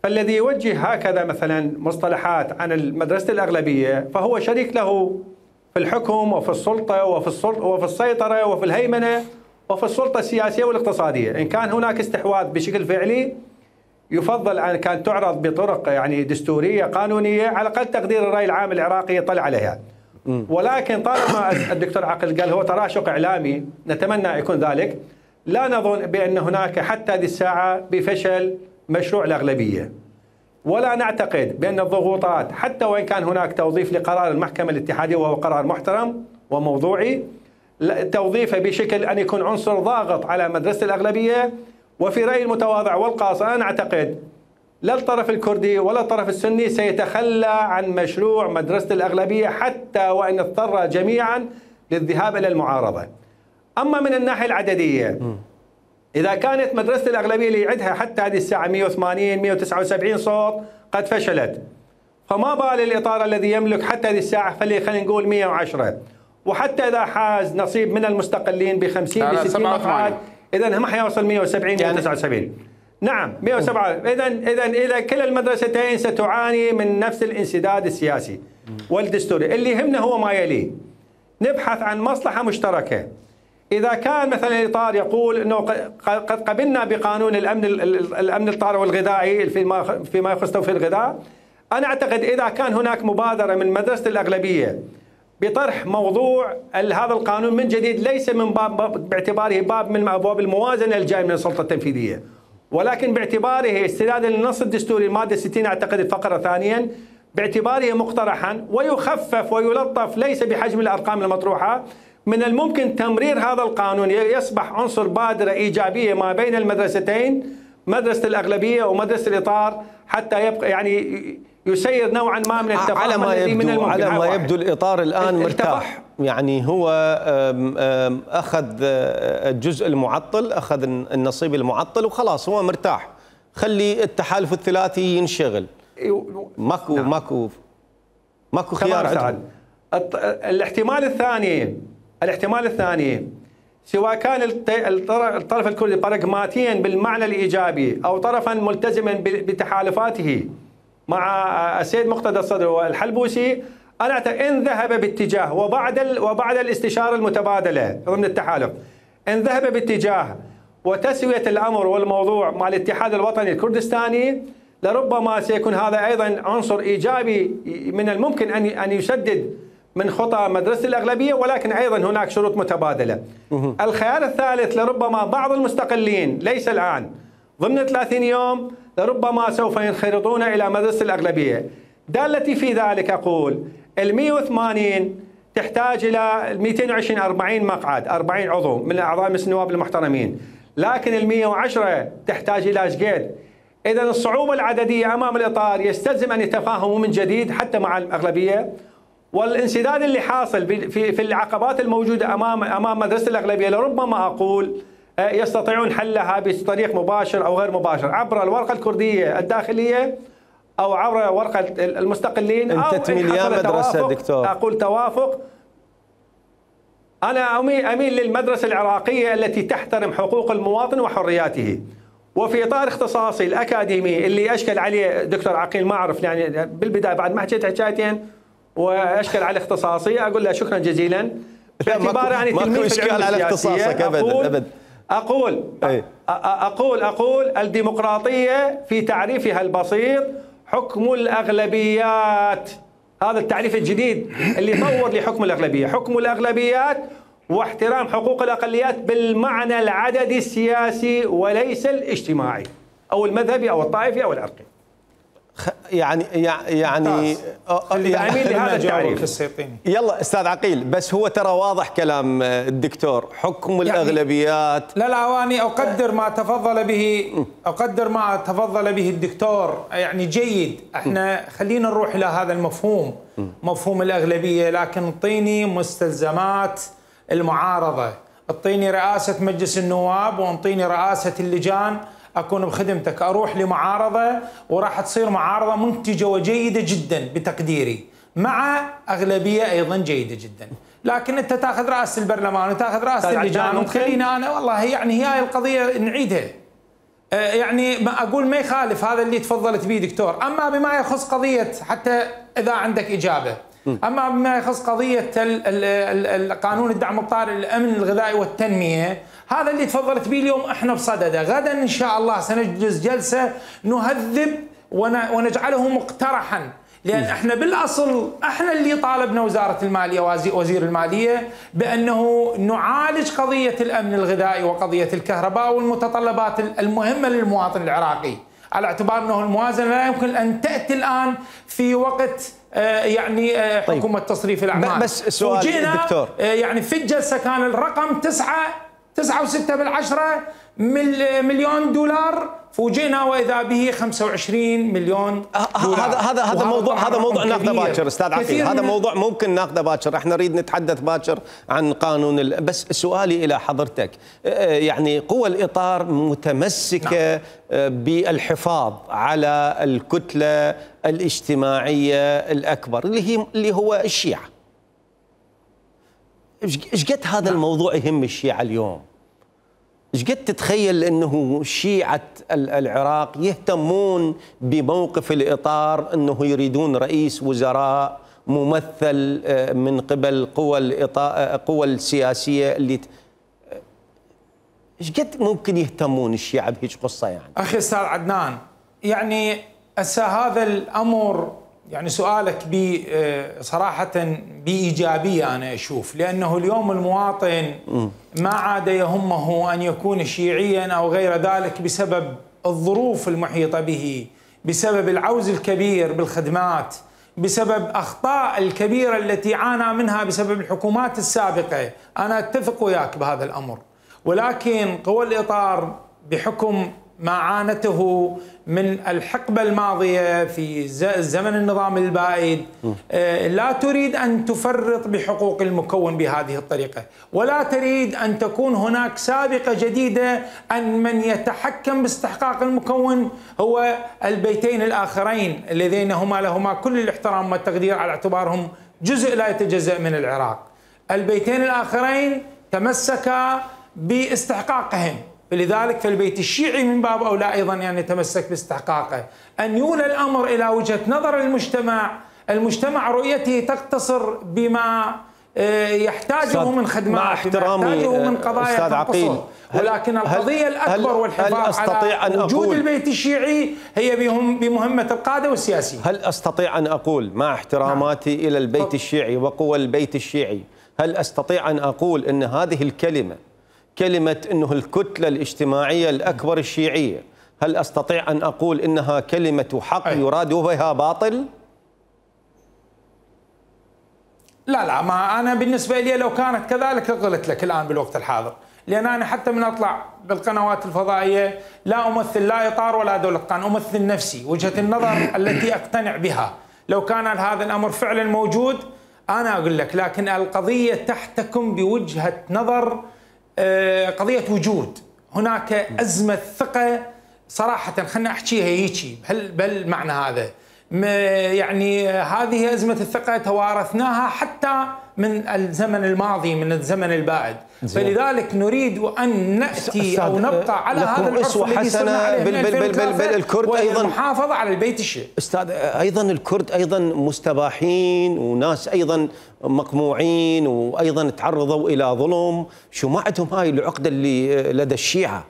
فالذي يوجه هكذا مثلا مصطلحات عن المدرسة الأغلبية فهو شريك له في الحكم وفي السلطة وفي السيطرة وفي الهيمنة وفي السلطة السياسية والاقتصادية. إن كان هناك استحواذ بشكل فعلي يفضل أن كان تعرض بطرق يعني دستورية قانونية، على أقل تقدير الرأي العام العراقي يطلع عليها. ولكن طالما الدكتور عقل قال هو تراشق إعلامي، نتمنى يكون ذلك، لا نظن بأن هناك حتى هذه الساعة بفشل مشروع الأغلبية. ولا نعتقد بأن الضغوطات حتى وإن كان هناك توظيف لقرار المحكمة الاتحادية وهو قرار محترم وموضوعي، توظيفه بشكل أن يكون عنصر ضاغط على مدرسة الأغلبية. وفي رأيي المتواضع والقاصر أنا أعتقد لا الطرف الكردي ولا الطرف السني سيتخلى عن مشروع مدرسة الأغلبية حتى وإن اضطر جميعا للذهاب إلى المعارضة. أما من الناحية العددية، إذا كانت مدرسة الأغلبية اللي يعدها حتى هذه الساعة 180 179 صوت قد فشلت، فما بال الإطار الذي يملك حتى هذه الساعة خلينا نقول 110، وحتى إذا حاز نصيب من المستقلين ب 50 ب 60 مقعد إذا ما حيوصل 170 179. نعم 107. إذا كلا المدرستين ستعاني من نفس الانسداد السياسي والدستوري. اللي يهمنا هو ما يلي، نبحث عن مصلحة مشتركة. إذا كان مثلا الإطار يقول أنه قد قبلنا بقانون الأمن الطارئ والغذائي فيما يخص توفير الغذاء، أنا أعتقد إذا كان هناك مبادرة من مدرسة الأغلبية بطرح موضوع هذا القانون من جديد، ليس من باب باعتباره باب من أبواب الموازنة الجاي من السلطة التنفيذية، ولكن باعتباره استنادا للنص الدستوري المادة 60 أعتقد الفقرة ثانيا، باعتباره مقترحا ويخفف ويلطف ليس بحجم الأرقام المطروحة، من الممكن تمرير هذا القانون يصبح عنصر بادرة إيجابية ما بين المدرستين، مدرسة الأغلبية ومدرسة الإطار، حتى يبقى يعني يسير نوعا ما من التفاهم الذي من الممكن. على ما يبدو الإطار الآن مرتاح، يعني هو أخذ الجزء المعطل، أخذ النصيب المعطل وخلاص هو مرتاح. خلي التحالف الثلاثي ينشغل، ماكو خيار عندهم. الاحتمال الثاني سواء كان الطرف الكردي براغماتيا بالمعنى الإيجابي أو طرفا ملتزما بتحالفاته مع السيد مقتدى الصدر والحلبوسي، أنا أعتقد إن ذهب باتجاه وبعد الاستشارة المتبادلة ضمن التحالف، إن ذهب باتجاه وتسوية الأمر والموضوع مع الاتحاد الوطني الكردستاني، لربما سيكون هذا أيضا عنصر إيجابي من الممكن أن يسدد من خطى مدرسة الأغلبية، ولكن أيضا هناك شروط متبادلة. الخيار الثالث، لربما بعض المستقلين ليس الآن ضمن 30 يوم لربما سوف ينخرطون إلى مدرسة الأغلبية. دالتي في ذلك أقول 180 تحتاج إلى 220 40 مقعد، 40 عضو من أعضاء مجلس النواب المحترمين، لكن 110 تحتاج إلى شقد. إذا الصعوبة العددية أمام الإطار يستلزم أن يتفاهموا من جديد حتى مع الأغلبية، والانسداد اللي حاصل في العقبات الموجودة أمام مدرسة الأغلبية لربما أقول يستطيعون حلها بطريق مباشر أو غير مباشر عبر الورقة الكردية الداخلية أو عبر ورقة المستقلين، أو أنت تميل يا مدرسة دكتور؟ أقول توافق. أنا أميل للمدرسة العراقية التي تحترم حقوق المواطن وحرياته، وفي إطار اختصاصي الأكاديمي اللي أشكل عليه دكتور عقيل، ما أعرف يعني بالبداية بعد ما حكيت حكايتين وأشكل على اختصاصي، أقول له شكرا جزيلا باعتبار أني تلميذ في العلوم السياسية. أقول الديمقراطية في تعريفها البسيط حكم الأغلبيات. هذا التعريف الجديد اللي طور لحكم الأغلبية، حكم الأغلبيات واحترام حقوق الأقليات بالمعنى العددي السياسي وليس الاجتماعي أو المذهبي أو الطائفي أو العرقي. يعني لهذا التعريف. يلا استاذ عقيل، بس هو ترى واضح كلام الدكتور، حكم الأغلبيات. لا واني اقدر ما تفضل به الدكتور، يعني جيد. احنا خلينا نروح الى هذا المفهوم، مفهوم الأغلبية، لكن اعطيني مستلزمات المعارضة، اعطيني رئاسة مجلس النواب واعطيني رئاسة اللجان، أكون بخدمتك. أروح لمعارضة وراح تصير معارضة منتجة وجيدة جدا بتقديري، مع أغلبية أيضا جيدة جدا. لكن أنت تأخذ رئاسة البرلمان وتأخذ رئاسة اللجان وتخليني أنا، والله يعني هي القضية نعيدها. يعني ما أقول ما يخالف هذا اللي تفضلت به دكتور. أما بما يخص قضية، حتى إذا عندك إجابة، أما بما يخص قضية قانون الدعم الطارئ للأمن الغذائي والتنمية، هذا اللي تفضلت به اليوم احنا بصدده. غدا ان شاء الله سنجلس جلسه نهذب ونجعله مقترحا، لان احنا بالاصل احنا اللي طالبنا وزاره الماليه وزير الماليه بانه نعالج قضيه الامن الغذائي وقضيه الكهرباء والمتطلبات المهمه للمواطن العراقي. على اعتبار أنه الموازنة لا يمكن أن تأتي الآن في وقت يعني حكومة تصريف الأعمال. بس سؤال دكتور، يعني في الجلسة كان الرقم 9.6 مليون دولار، فوجئنا واذا به 25 مليون دولار. هذا موضوع ناخذه باكر استاذ عقيل، هذا موضوع ممكن ناخذه باكر، احنا نريد نتحدث باكر عن قانون بس سؤالي الى حضرتك، يعني قوى الاطار متمسكه بالحفاظ على الكتله الاجتماعيه الاكبر اللي هو الشيعه. ايش قد هذا الموضوع يهم الشيعه اليوم؟ ايش قد تتخيل انه شيعة العراق يهتمون بموقف الاطار، انه يريدون رئيس وزراء ممثل من قبل قوى السياسيه اللي ايش قد ممكن يهتمون الشيعة بهيج قصه يعني؟ اخي استاذ عدنان، يعني هذا الامر يعني سؤالك صراحة بإيجابية أنا أشوف، لأنه اليوم المواطن ما عاد يهمه أن يكون شيعيا أو غير ذلك بسبب الظروف المحيطة به، بسبب العوز الكبير بالخدمات، بسبب أخطاء الكبيرة التي عانى منها بسبب الحكومات السابقة. أنا أتفق وياك بهذا الأمر، ولكن قوى الإطار بحكم ما عانته من الحقبة الماضية في زمن النظام البائد لا تريد أن تفرط بحقوق المكون بهذه الطريقة، ولا تريد أن تكون هناك سابقة جديدة أن من يتحكم باستحقاق المكون هو البيتين الآخرين اللذين هما لهما كل الاحترام والتقدير على اعتبارهم جزء لا يتجزأ من العراق. البيتين الآخرين تمسكا باستحقاقهم، فلذلك فالبيت الشيعي من باب أولى أيضا أن يتمسك باستحقاقه، أن يولى الأمر إلى وجهة نظر المجتمع رؤيته تقتصر بما يحتاجه من خدمات، يحتاجه من قضايا تنقصه، ولكن القضية الأكبر والحفاظ على وجود البيت الشيعي هي بمهمة القادة والسياسيين. هل أستطيع أن أقول مع احتراماتي إلى البيت الشيعي وقوى البيت الشيعي، هل أستطيع أن أقول أن هذه كلمة أنه الكتلة الاجتماعية الأكبر الشيعية، هل أستطيع أن أقول إنها كلمة حق يراد بها باطل؟ لا ما أنا بالنسبة لي لو كانت كذلك قلت لك الآن بالوقت الحاضر، لأن أنا حتى من أطلع بالقنوات الفضائية لا أمثل لا إطار ولا دولة قان، أمثل نفسي، وجهة النظر التي أقتنع بها. لو كان هذا الأمر فعلا موجود أنا أقول لك، لكن القضية تحتكم بوجهة نظر قضية وجود هناك أزمة ثقة صراحة، خلنا أحكيها هيك بالمعنى هذا. يعني هذه أزمة الثقة توارثناها حتى من الزمن الماضي، من الزمن البائد، فلذلك نريد أن نأتي أو نبقى على هذا العرف الذي صرنا عليه من 2003 الكرد أيضا المحافظة على البيت الشيعي. أستاذ أيضا الكرد أيضا مستباحين وناس أيضا مقموعين وأيضا تعرضوا إلى ظلم، شو ما عندهم هاي العقدة اللي لدى الشيعة؟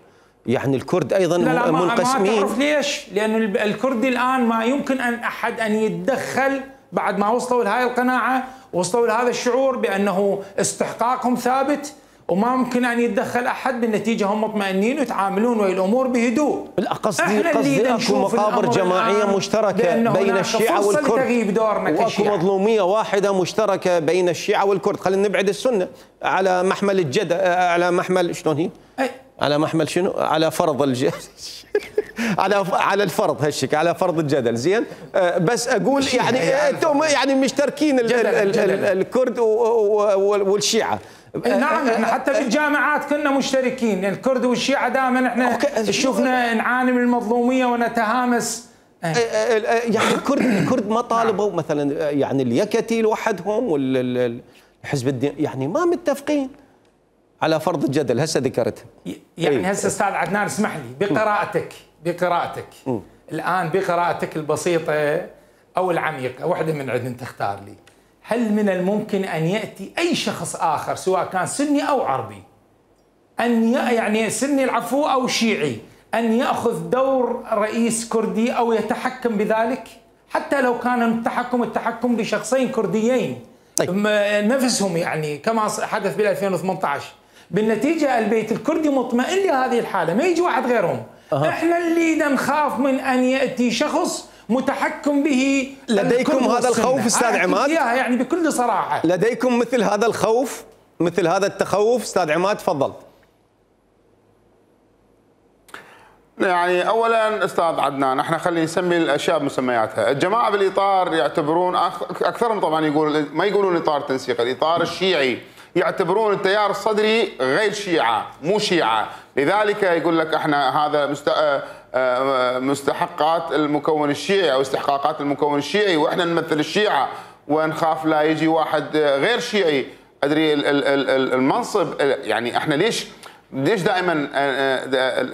يعني الكرد أيضا لا منقسمين. ما تعرف ليش؟ لأن الكرد الآن ما يمكن أن أحد أن يتدخل بعد ما وصلوا لهذه القناعة، وصلوا لهذا الشعور بأنه استحقاقهم ثابت، وما ممكن أن يتدخل أحد، بالنتيجة هم مطمئنين ويتعاملون ويا الأمور بهدوء. قصدي أكو مقابر جماعية مشتركة بين الشيعة والكرد، وأكو مظلومية واحدة مشتركة بين الشيعة والكرد. خلينا نبعد السنة على محمل الجد، على محمل شلون هي؟ على محمل شنو؟ على فرض الجدل على الفرض هالشكل، على فرض الجدل. زين، بس اقول يعني انتم يعني مشتركين الكرد والشيعة. نعم، احنا حتى في الجامعات كنا مشتركين، الكرد والشيعة دائما احنا شفنا نعاني من المظلومية ونتهامس. يعني الكرد ما طالبوا مثلا يعني اليكتي لوحدهم والحزب الدين، يعني ما متفقين على فرض الجدل. هسه ذكرتها يعني هسه استاذ عدنان اسمح لي بقراءتك الان، بقراءتك البسيطه او العميقه، واحده من عندن تختار لي. هل من الممكن ان ياتي اي شخص اخر سواء كان سني او عربي ان يعني سني العفو او شيعي ان ياخذ دور رئيس كردي او يتحكم بذلك، حتى لو كان التحكم بشخصين كرديين نفسهم، يعني كما حدث بال 2018؟ بالنتيجة البيت الكردي مطمئن لهذه الحالة، ما يجي واحد غيرهم، احنا اللي نخاف من ان ياتي شخص متحكم به. لديكم هذا الخوف استاذ عماد؟ يعني بكل صراحه لديكم مثل هذا الخوف، مثل هذا التخوف استاذ عماد؟ تفضل. يعني اولا استاذ عدنان، احنا خلينا نسمي الاشياء بمسمياتها. الجماعه بالاطار يعتبرون، اكثرهم طبعا ما يقولون اطار تنسيق، الاطار الشيعي، يعتبرون التيار الصدري غير شيعه، مو شيعه، لذلك يقول لك احنا هذا مستحقات المكون الشيعي او استحقاقات المكون الشيعي، واحنا نمثل الشيعه ونخاف لا يجي واحد غير شيعي. ادري المنصب، يعني احنا ليش دائما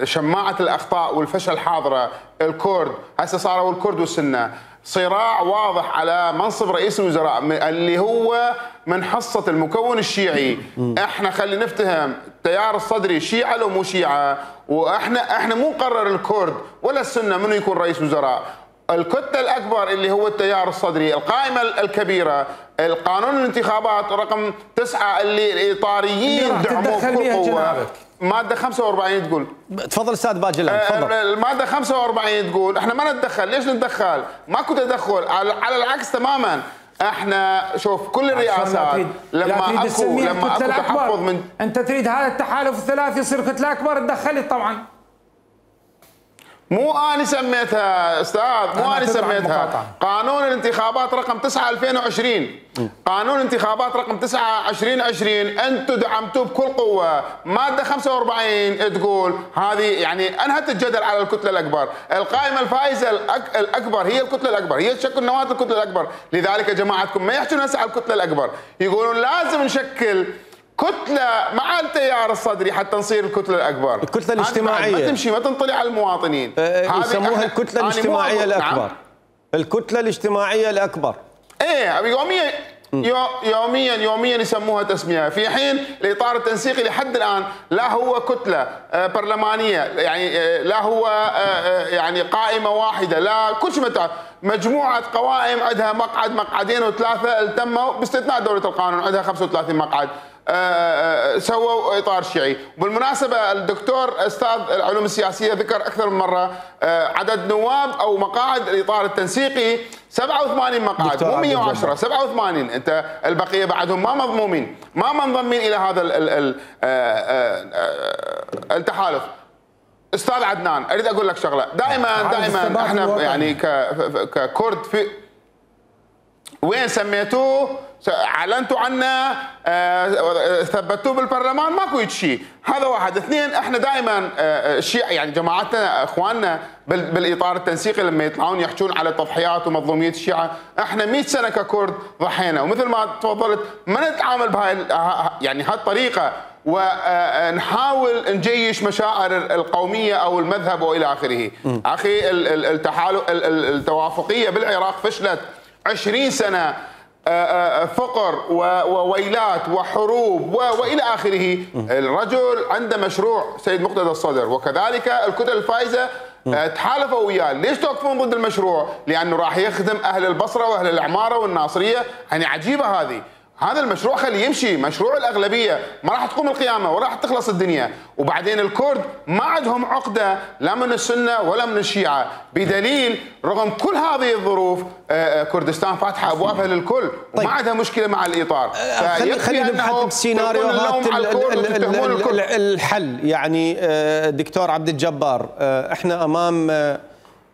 شماعه الاخطاء والفشل حاضره؟ الكرد هسه صاروا الكرد والسنه، صراع واضح على منصب رئيس الوزراء اللي هو من حصه المكون الشيعي. احنا خلي نفتهم التيار الصدري شيعه لو مو شيعه، واحنا مو نقرر الكرد ولا السنه منو يكون رئيس وزراء. الكتله الاكبر اللي هو التيار الصدري، القائمه الكبيره، القانون الانتخابات رقم 9 اللي الاطاريين دعموه بكل قوه. ماده 45 تقول، تفضل استاذ باجلان تفضل. الماده 45 تقول احنا ما نتدخل. ليش نتدخل؟ ماكو تدخل، على العكس تماما. احنا شوف كل الرئاسات لما اكو تحفظ من، انت تريد هذا التحالف الثلاثي يصير كتله اكبر، تدخلت طبعا. مو أنا سميتها استاذ، مو أنا سميتها. قانون الانتخابات رقم 9 2020، قانون الانتخابات رقم 9 2020 انتم دعمتوه بكل قوه. ماده 45 تقول هذه يعني انهت الجدل على الكتله الاكبر، القائمه الفائزه الاكبر هي الكتله الاكبر، هي تشكل نواه الكتله الاكبر. لذلك جماعتكم ما يحكون هسه على الكتله الاكبر، يقولون لازم نشكل كتلة مع التيار الصدري حتى نصير الكتلة الأكبر. الكتلة الاجتماعية ما تمشي، ما تنطلع على المواطنين. يسموها الكتلة الاجتماعية الأكبر. نعم؟ الكتلة الاجتماعية الأكبر. إيه يوميا يسموها تسمية، في حين الإطار التنسيقي لحد الآن لا هو كتلة برلمانية، يعني لا هو يعني قائمة واحدة، لا كل شيء مجموعة قوائم عندها مقعد مقعدين وثلاثة التموا باستثناء دولة القانون عندها 35 مقعد. سووا اطار شيعي. وبالمناسبه الدكتور استاذ العلوم السياسيه ذكر اكثر من مره عدد نواب او مقاعد الاطار التنسيقي 87 مقعد، مو 110 87. انت البقيه بعدهم ما مضمومين، ما منضمين الى هذا التحالف. استاذ عدنان اريد اقول لك شغله، دائما احنا يعني ككرد في وين سميتوه؟ اعلنتوا عنه، ثبتوه بالبرلمان، ماكو شيء. هذا واحد. اثنين، احنا دائما الشيعة يعني جماعتنا اخواننا بالاطار التنسيقي لما يطلعون يحجون على تضحيات ومظلوميه الشيعة، احنا 100 سنه ككرد ضحينا، ومثل ما تفضلت ما نتعامل بهاي يعني هالطريقه ونحاول نجيش مشاعر القوميه او المذهب والى اخره. اخي التوافقيه بالعراق فشلت 20 سنه، فقر وويلات وحروب والى اخره. الرجل عنده مشروع سيد مقتدى الصدر، وكذلك الكتل الفائزه تحالفوا وياه. ليش توقفون ضد المشروع؟ لانه راح يخدم اهل البصره واهل العماره والناصريه. يعني عجيبه هذه. هذا المشروع خليه يمشي، مشروع الاغلبيه، ما راح تقوم القيامه ولا راح تخلص الدنيا. وبعدين الكرد ما عندهم عقده لا من السنه ولا من الشيعه، بدليل رغم كل هذه الظروف كردستان فاتحه ابوابها للكل وما عندها مشكله مع الاطار. خلينا نبحث بسيناريوهات الحل. يعني دكتور عبد الجبار، احنا امام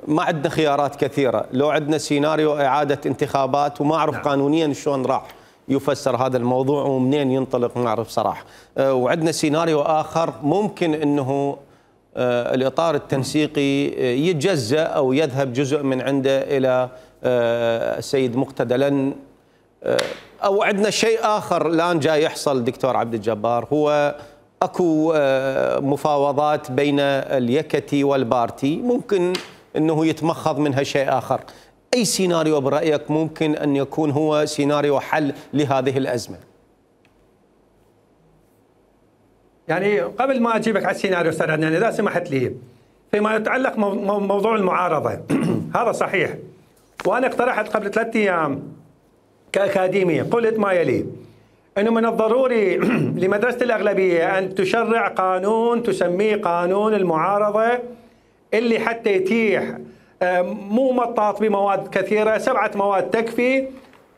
ما عندنا خيارات كثيره. لو عندنا سيناريو اعاده انتخابات وما اعرف قانونيا شلون راح يفسر هذا الموضوع ومنين ينطلق ما اعرف صراحه. وعندنا سيناريو اخر ممكن انه الاطار التنسيقي يتجزأ او يذهب جزء من عنده الى السيد مقتدى، لن او عندنا شيء اخر الان جاي يحصل دكتور عبد الجبار، هو اكو مفاوضات بين اليكتي والبارتي، ممكن انه يتمخض منها شيء اخر. أي سيناريو برأيك ممكن أن يكون هو سيناريو حل لهذه الأزمة؟ يعني قبل ما أجيبك على السيناريو أستاذ عدنان إذا سمحت لي، فيما يتعلق موضوع المعارضة هذا صحيح، وأنا اقترحت قبل 3 أيام كأكاديمية، قلت ما يلي: أنه من الضروري لمدرسة الأغلبية أن تشرع قانون تسميه قانون المعارضة اللي حتى يتيح مو مطاط بمواد كثيرة، 7 مواد تكفي،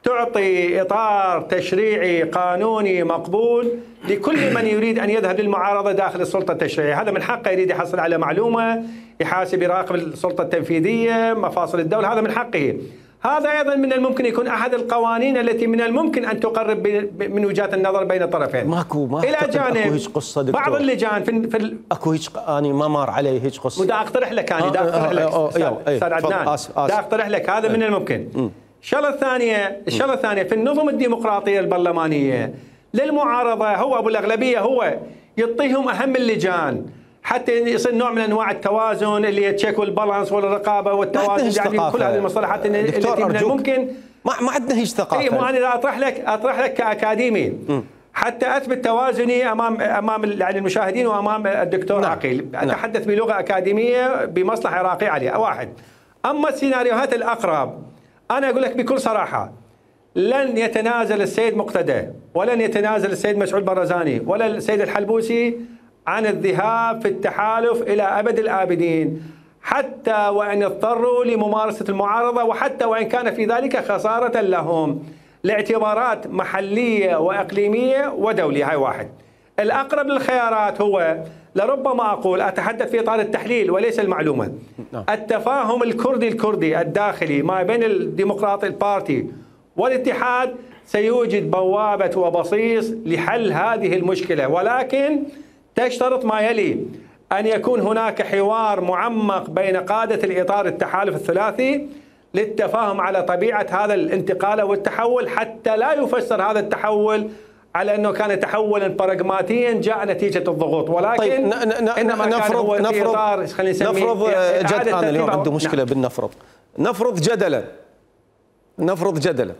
تعطي إطار تشريعي قانوني مقبول لكل من يريد أن يذهب للمعارضة داخل السلطة التشريعية. هذا من حقه، يريد يحصل على معلومة، يحاسب، يراقب السلطة التنفيذية، مفاصل الدولة، هذا من حقه. هذا أيضا من الممكن يكون أحد القوانين التي من الممكن أن تقرب من وجهات النظر بين الطرفين. ما إلى جانب قصة دكتور. بعض اللجان اكو هيك أنا ما مر علي هيك قصة. ودا أقترح لك أنا أقترح لك أستاذ عدنان، دا أقترح لك هذا من الممكن. الشغلة الثانية في النظم الديمقراطية البرلمانية للمعارضة، هو أبو الأغلبية هو يعطيهم أهم اللجان حتى يصير نوع من انواع التوازن اللي هي تشيك والبالانس والرقابه والتوازن، يعني كل هذه المصطلحات التي من الممكن ما عندنا هيك ثقافه. اي ما انا اطرح لك كاكاديمي حتى اثبت توازني امام يعني المشاهدين وامام الدكتور عقيل. اتحدث بلغه اكاديميه بمصلحه عراقيه عليها. واحد، اما السيناريوهات الاقرب انا اقول لك بكل صراحه لن يتنازل السيد مقتدى ولن يتنازل السيد مسعود برزاني ولا السيد الحلبوسي عن الذهاب في التحالف إلى أبد الآبدين، حتى وإن اضطروا لممارسة المعارضة، وحتى وإن كان في ذلك خسارة لهم لاعتبارات محلية وإقليمية ودولية. هاي واحد. الأقرب للخيارات هو لربما أقول أتحدث في إطار التحليل وليس المعلومة. التفاهم الكردي الداخلي ما بين الديمقراطي البارتي والاتحاد سيوجد بوابة وبصيص لحل هذه المشكلة، ولكن تشترط ما يلي: أن يكون هناك حوار معمق بين قادة الإطار التحالف الثلاثي للتفاهم على طبيعة هذا الانتقال والتحول، حتى لا يفسر هذا التحول على أنه كان تحولا براغماتيا جاء نتيجة الضغوط، ولكن طيب إنما نفرض كان هو في إطار نفرض أنا اليوم عنده مشكلة بالنفرض. نفرض جدلا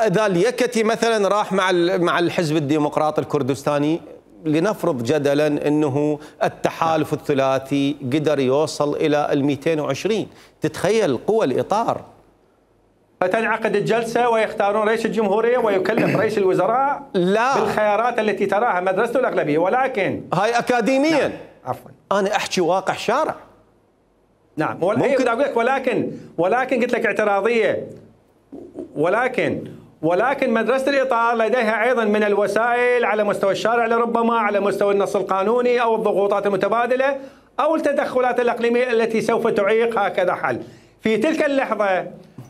إذا اليكتي مثلا راح مع الحزب الديمقراطي الكردستاني، لنفرض جدلا أنه التحالف الثلاثي قدر يوصل إلى 220، تتخيل قوى الإطار؟ فتنعقد الجلسة ويختارون رئيس الجمهورية ويكلف رئيس الوزراء بالخيارات التي تراها مدرسة الأغلبية، ولكن هاي أكاديميا. نعم. عفوا، أنا أحكي واقع شارع. نعم، ممكن أقول لك ولكن قلت لك اعتراضية، ولكن مدرسة الإطار لديها أيضا من الوسائل على مستوى الشارع، لربما على مستوى النص القانوني أو الضغوطات المتبادلة أو التدخلات الإقليمية التي سوف تعيق هكذا حل. في تلك اللحظة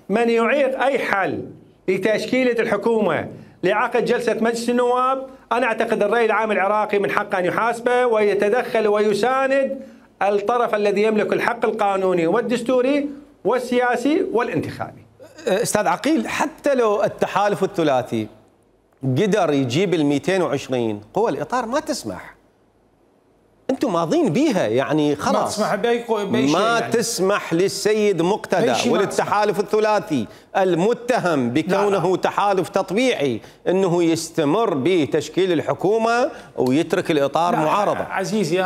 من يعيق أي حل لتشكيلة الحكومة لعقد جلسة مجلس النواب، أنا أعتقد الرأي العام العراقي من حقه أن يحاسبه ويتدخل ويساند الطرف الذي يملك الحق القانوني والدستوري والسياسي والانتخابي. أستاذ عقيل، حتى لو التحالف الثلاثي قدر يجيب 220، قوى الإطار ما تسمح. أنتم ماضين بيها، يعني خلاص ما تسمح بأي ما يعني. تسمح للسيد مقتدى وللتحالف الثلاثي المتهم بكونه تحالف تطبيعي أنه يستمر بتشكيل الحكومة ويترك الإطار معارضة. عزيزي،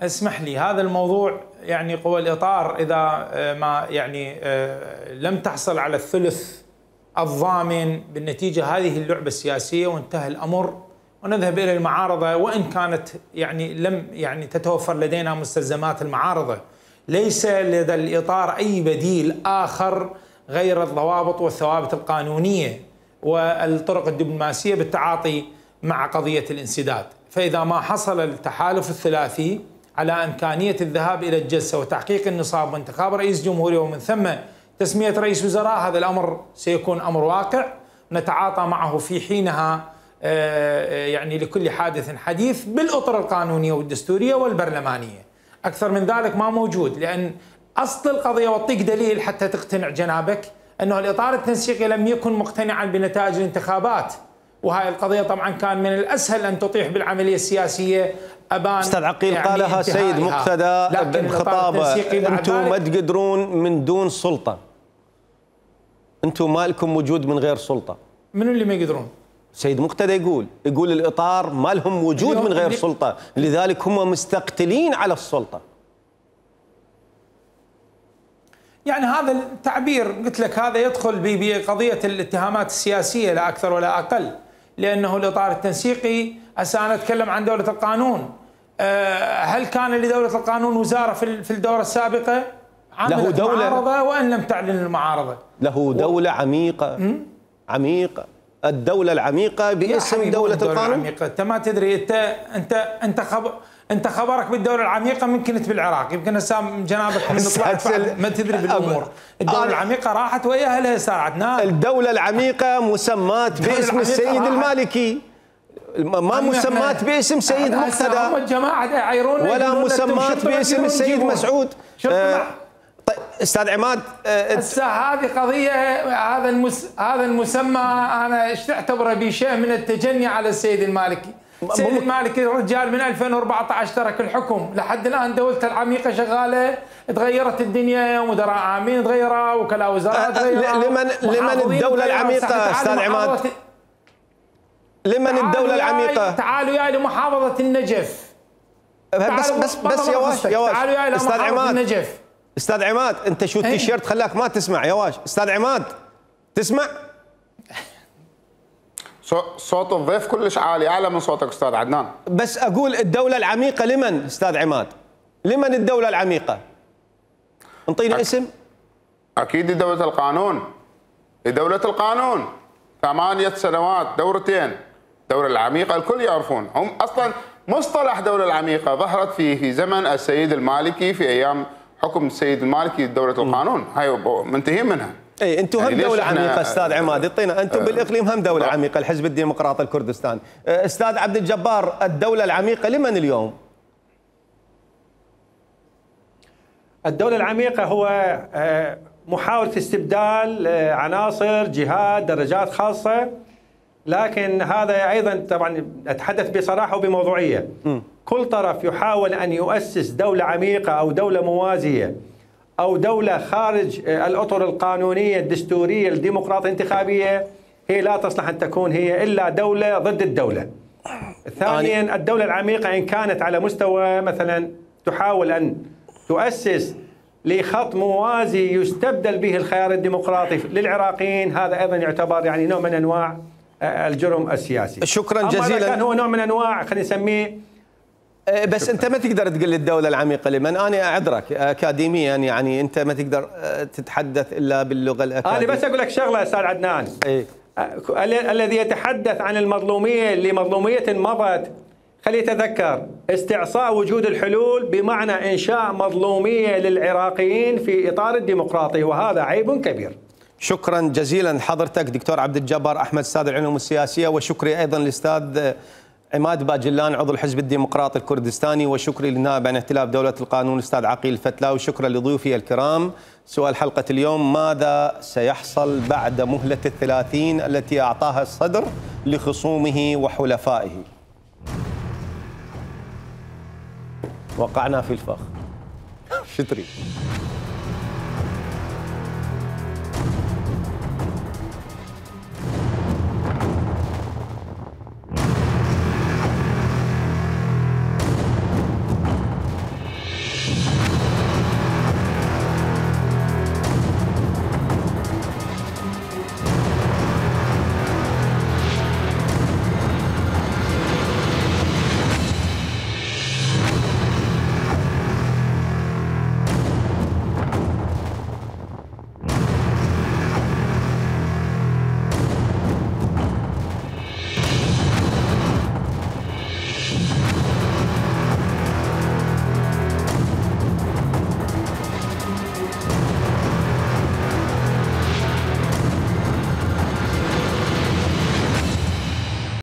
اسمح لي، هذا الموضوع يعني قوى الإطار إذا ما يعني لم تحصل على الثلث الضامن بالنتيجة هذه اللعبة السياسية وانتهى الأمر ونذهب إلى المعارضة، وإن كانت يعني لم يعني تتوفر لدينا مستلزمات المعارضة. ليس لدى الإطار أي بديل آخر غير الضوابط والثوابت القانونية والطرق الدبلوماسية بالتعاطي مع قضية الانسداد. فإذا ما حصل التحالف الثلاثي على إمكانية الذهاب إلى الجلسة وتحقيق النصاب وانتخاب رئيس جمهورية ومن ثم تسمية رئيس وزراء، هذا الأمر سيكون أمر واقع نتعاطى معه في حينها، يعني لكل حادث حديث بالأطر القانونية والدستورية والبرلمانية. أكثر من ذلك ما موجود، لأن أصل القضية، واعطيك دليل حتى تقتنع جنابك، أنه الإطار التنسيقي لم يكن مقتنعا بنتائج الانتخابات، وهي القضية طبعا كان من الأسهل أن تطيح بالعملية السياسية أبان. أستاذ عقيل، يعني قالها سيد مقتدى بخطابه: أنتم ما تقدرون من دون سلطة، أنتم ما لكم وجود من غير سلطة. من اللي ما يقدرون؟ سيد مقتدى يقول الإطار ما لهم وجود من غير سلطة، لذلك هم مستقتلين على السلطة. يعني هذا التعبير قلت لك هذا يدخل بقضية الاتهامات السياسية لا أكثر ولا أقل، لأنه الإطار التنسيقي أنا أتكلم عن دولة القانون. هل كان لدولة القانون وزارة في الدورة السابقة؟ له دولة معارضة وأن لم تعلن المعارضة. له دولة عميقة عميقة، الدولة العميقة باسم دولة القانون. العميقة. أنت ما تدري، أنت خبرك بالدولة العميقة من كنت بالعراق، يمكن هسه جنابك من طلعت ما تدري بالأمور. الدولة العميقة راحت وياها لها أستاذ عدنان. الدولة العميقة مسمات باسم السيد المالكي، ما مسمات باسم سيد مقتدى، هم الجماعة ولا مسمات باسم السيد مسعود. طيب استاذ عماد، هسه هذه قضيه، هذا المسمى انا اعتبره بشيء من التجني على السيد المالكي. السيد المالكي رجال من 2014 ترك الحكم، لحد الان دولته العميقه شغاله، تغيرت الدنيا، مدراء عامين تغيروا، وكلاء وزراء تغيروا. لمن الدوله العميقه استاذ عماد؟ لمن الدوله العميقه؟ تعالوا يا لمحافظه النجف. بس يا واش تعالوا يا لمحافظه النجف. استاذ عماد، انت شو التيشيرت خلاك ما تسمع يا واش؟ استاذ عماد تسمع؟ صوت الضيف كلش عالي، اعلى من صوتك استاذ عدنان. بس اقول الدولة العميقة لمن استاذ عماد؟ لمن الدولة العميقة؟ انطيني اسم. اكيد لدولة القانون. لدولة القانون 8 سنوات دورتين. الدولة العميقة الكل يعرفون، هم اصلا مصطلح دولة العميقة ظهرت في زمن السيد المالكي، في ايام حكم السيد المالكي دولة القانون، هاي منتهين منها. اي انتم هم دولة عميقة استاذ عماد، اعطينا انتم بالاقليم هم دولة عميقة، الحزب الديمقراطي الكردستاني. استاذ عبد الجبار، الدولة العميقة لمن اليوم؟ الدولة العميقة هو محاولة استبدال عناصر، جهات، درجات خاصة، لكن هذا ايضا طبعا اتحدث بصراحة وبموضوعية. كل طرف يحاول ان يؤسس دولة عميقة او دولة موازية أو دولة خارج الأطر القانونية الدستورية الديمقراطية الانتخابية، هي لا تصلح أن تكون هي إلا دولة ضد الدولة. ثانيا، الدولة العميقة إن كانت على مستوى مثلا تحاول أن تؤسس لخط موازي يستبدل به الخيار الديمقراطي للعراقيين، هذا أيضا يعتبر يعني نوع من أنواع الجرم السياسي. شكرا جزيلا. كان هو نوع من أنواع خلينا نسميه. بس انت ما تقدر تقول لي الدولة العميقة لمن، انا اعذرك اكاديميا، يعني انت ما تقدر تتحدث الا باللغة الاكاديمية. انا بس اقول لك شغلة استاذ عدنان. ايه؟ الذي يتحدث عن المظلومية لمظلومية مضت، خلي يتذكر استعصاء وجود الحلول بمعنى انشاء مظلومية للعراقيين في اطار الديمقراطي، وهذا عيب كبير. شكرا جزيلا حضرتك دكتور عبد الجبار احمد استاذ العلوم السياسية، وشكري ايضا للاستاذ عماد باجلان عضو الحزب الديمقراطي الكردستاني، وشكري للنائب عن ائتلاف دولة القانون الأستاذ عقيل الفتلاوي، وشكرا لضيوفي الكرام. سؤال حلقة اليوم: ماذا سيحصل بعد مهلة 30 التي أعطاها الصدر لخصومه وحلفائه؟ وقعنا في الفخ. شتري.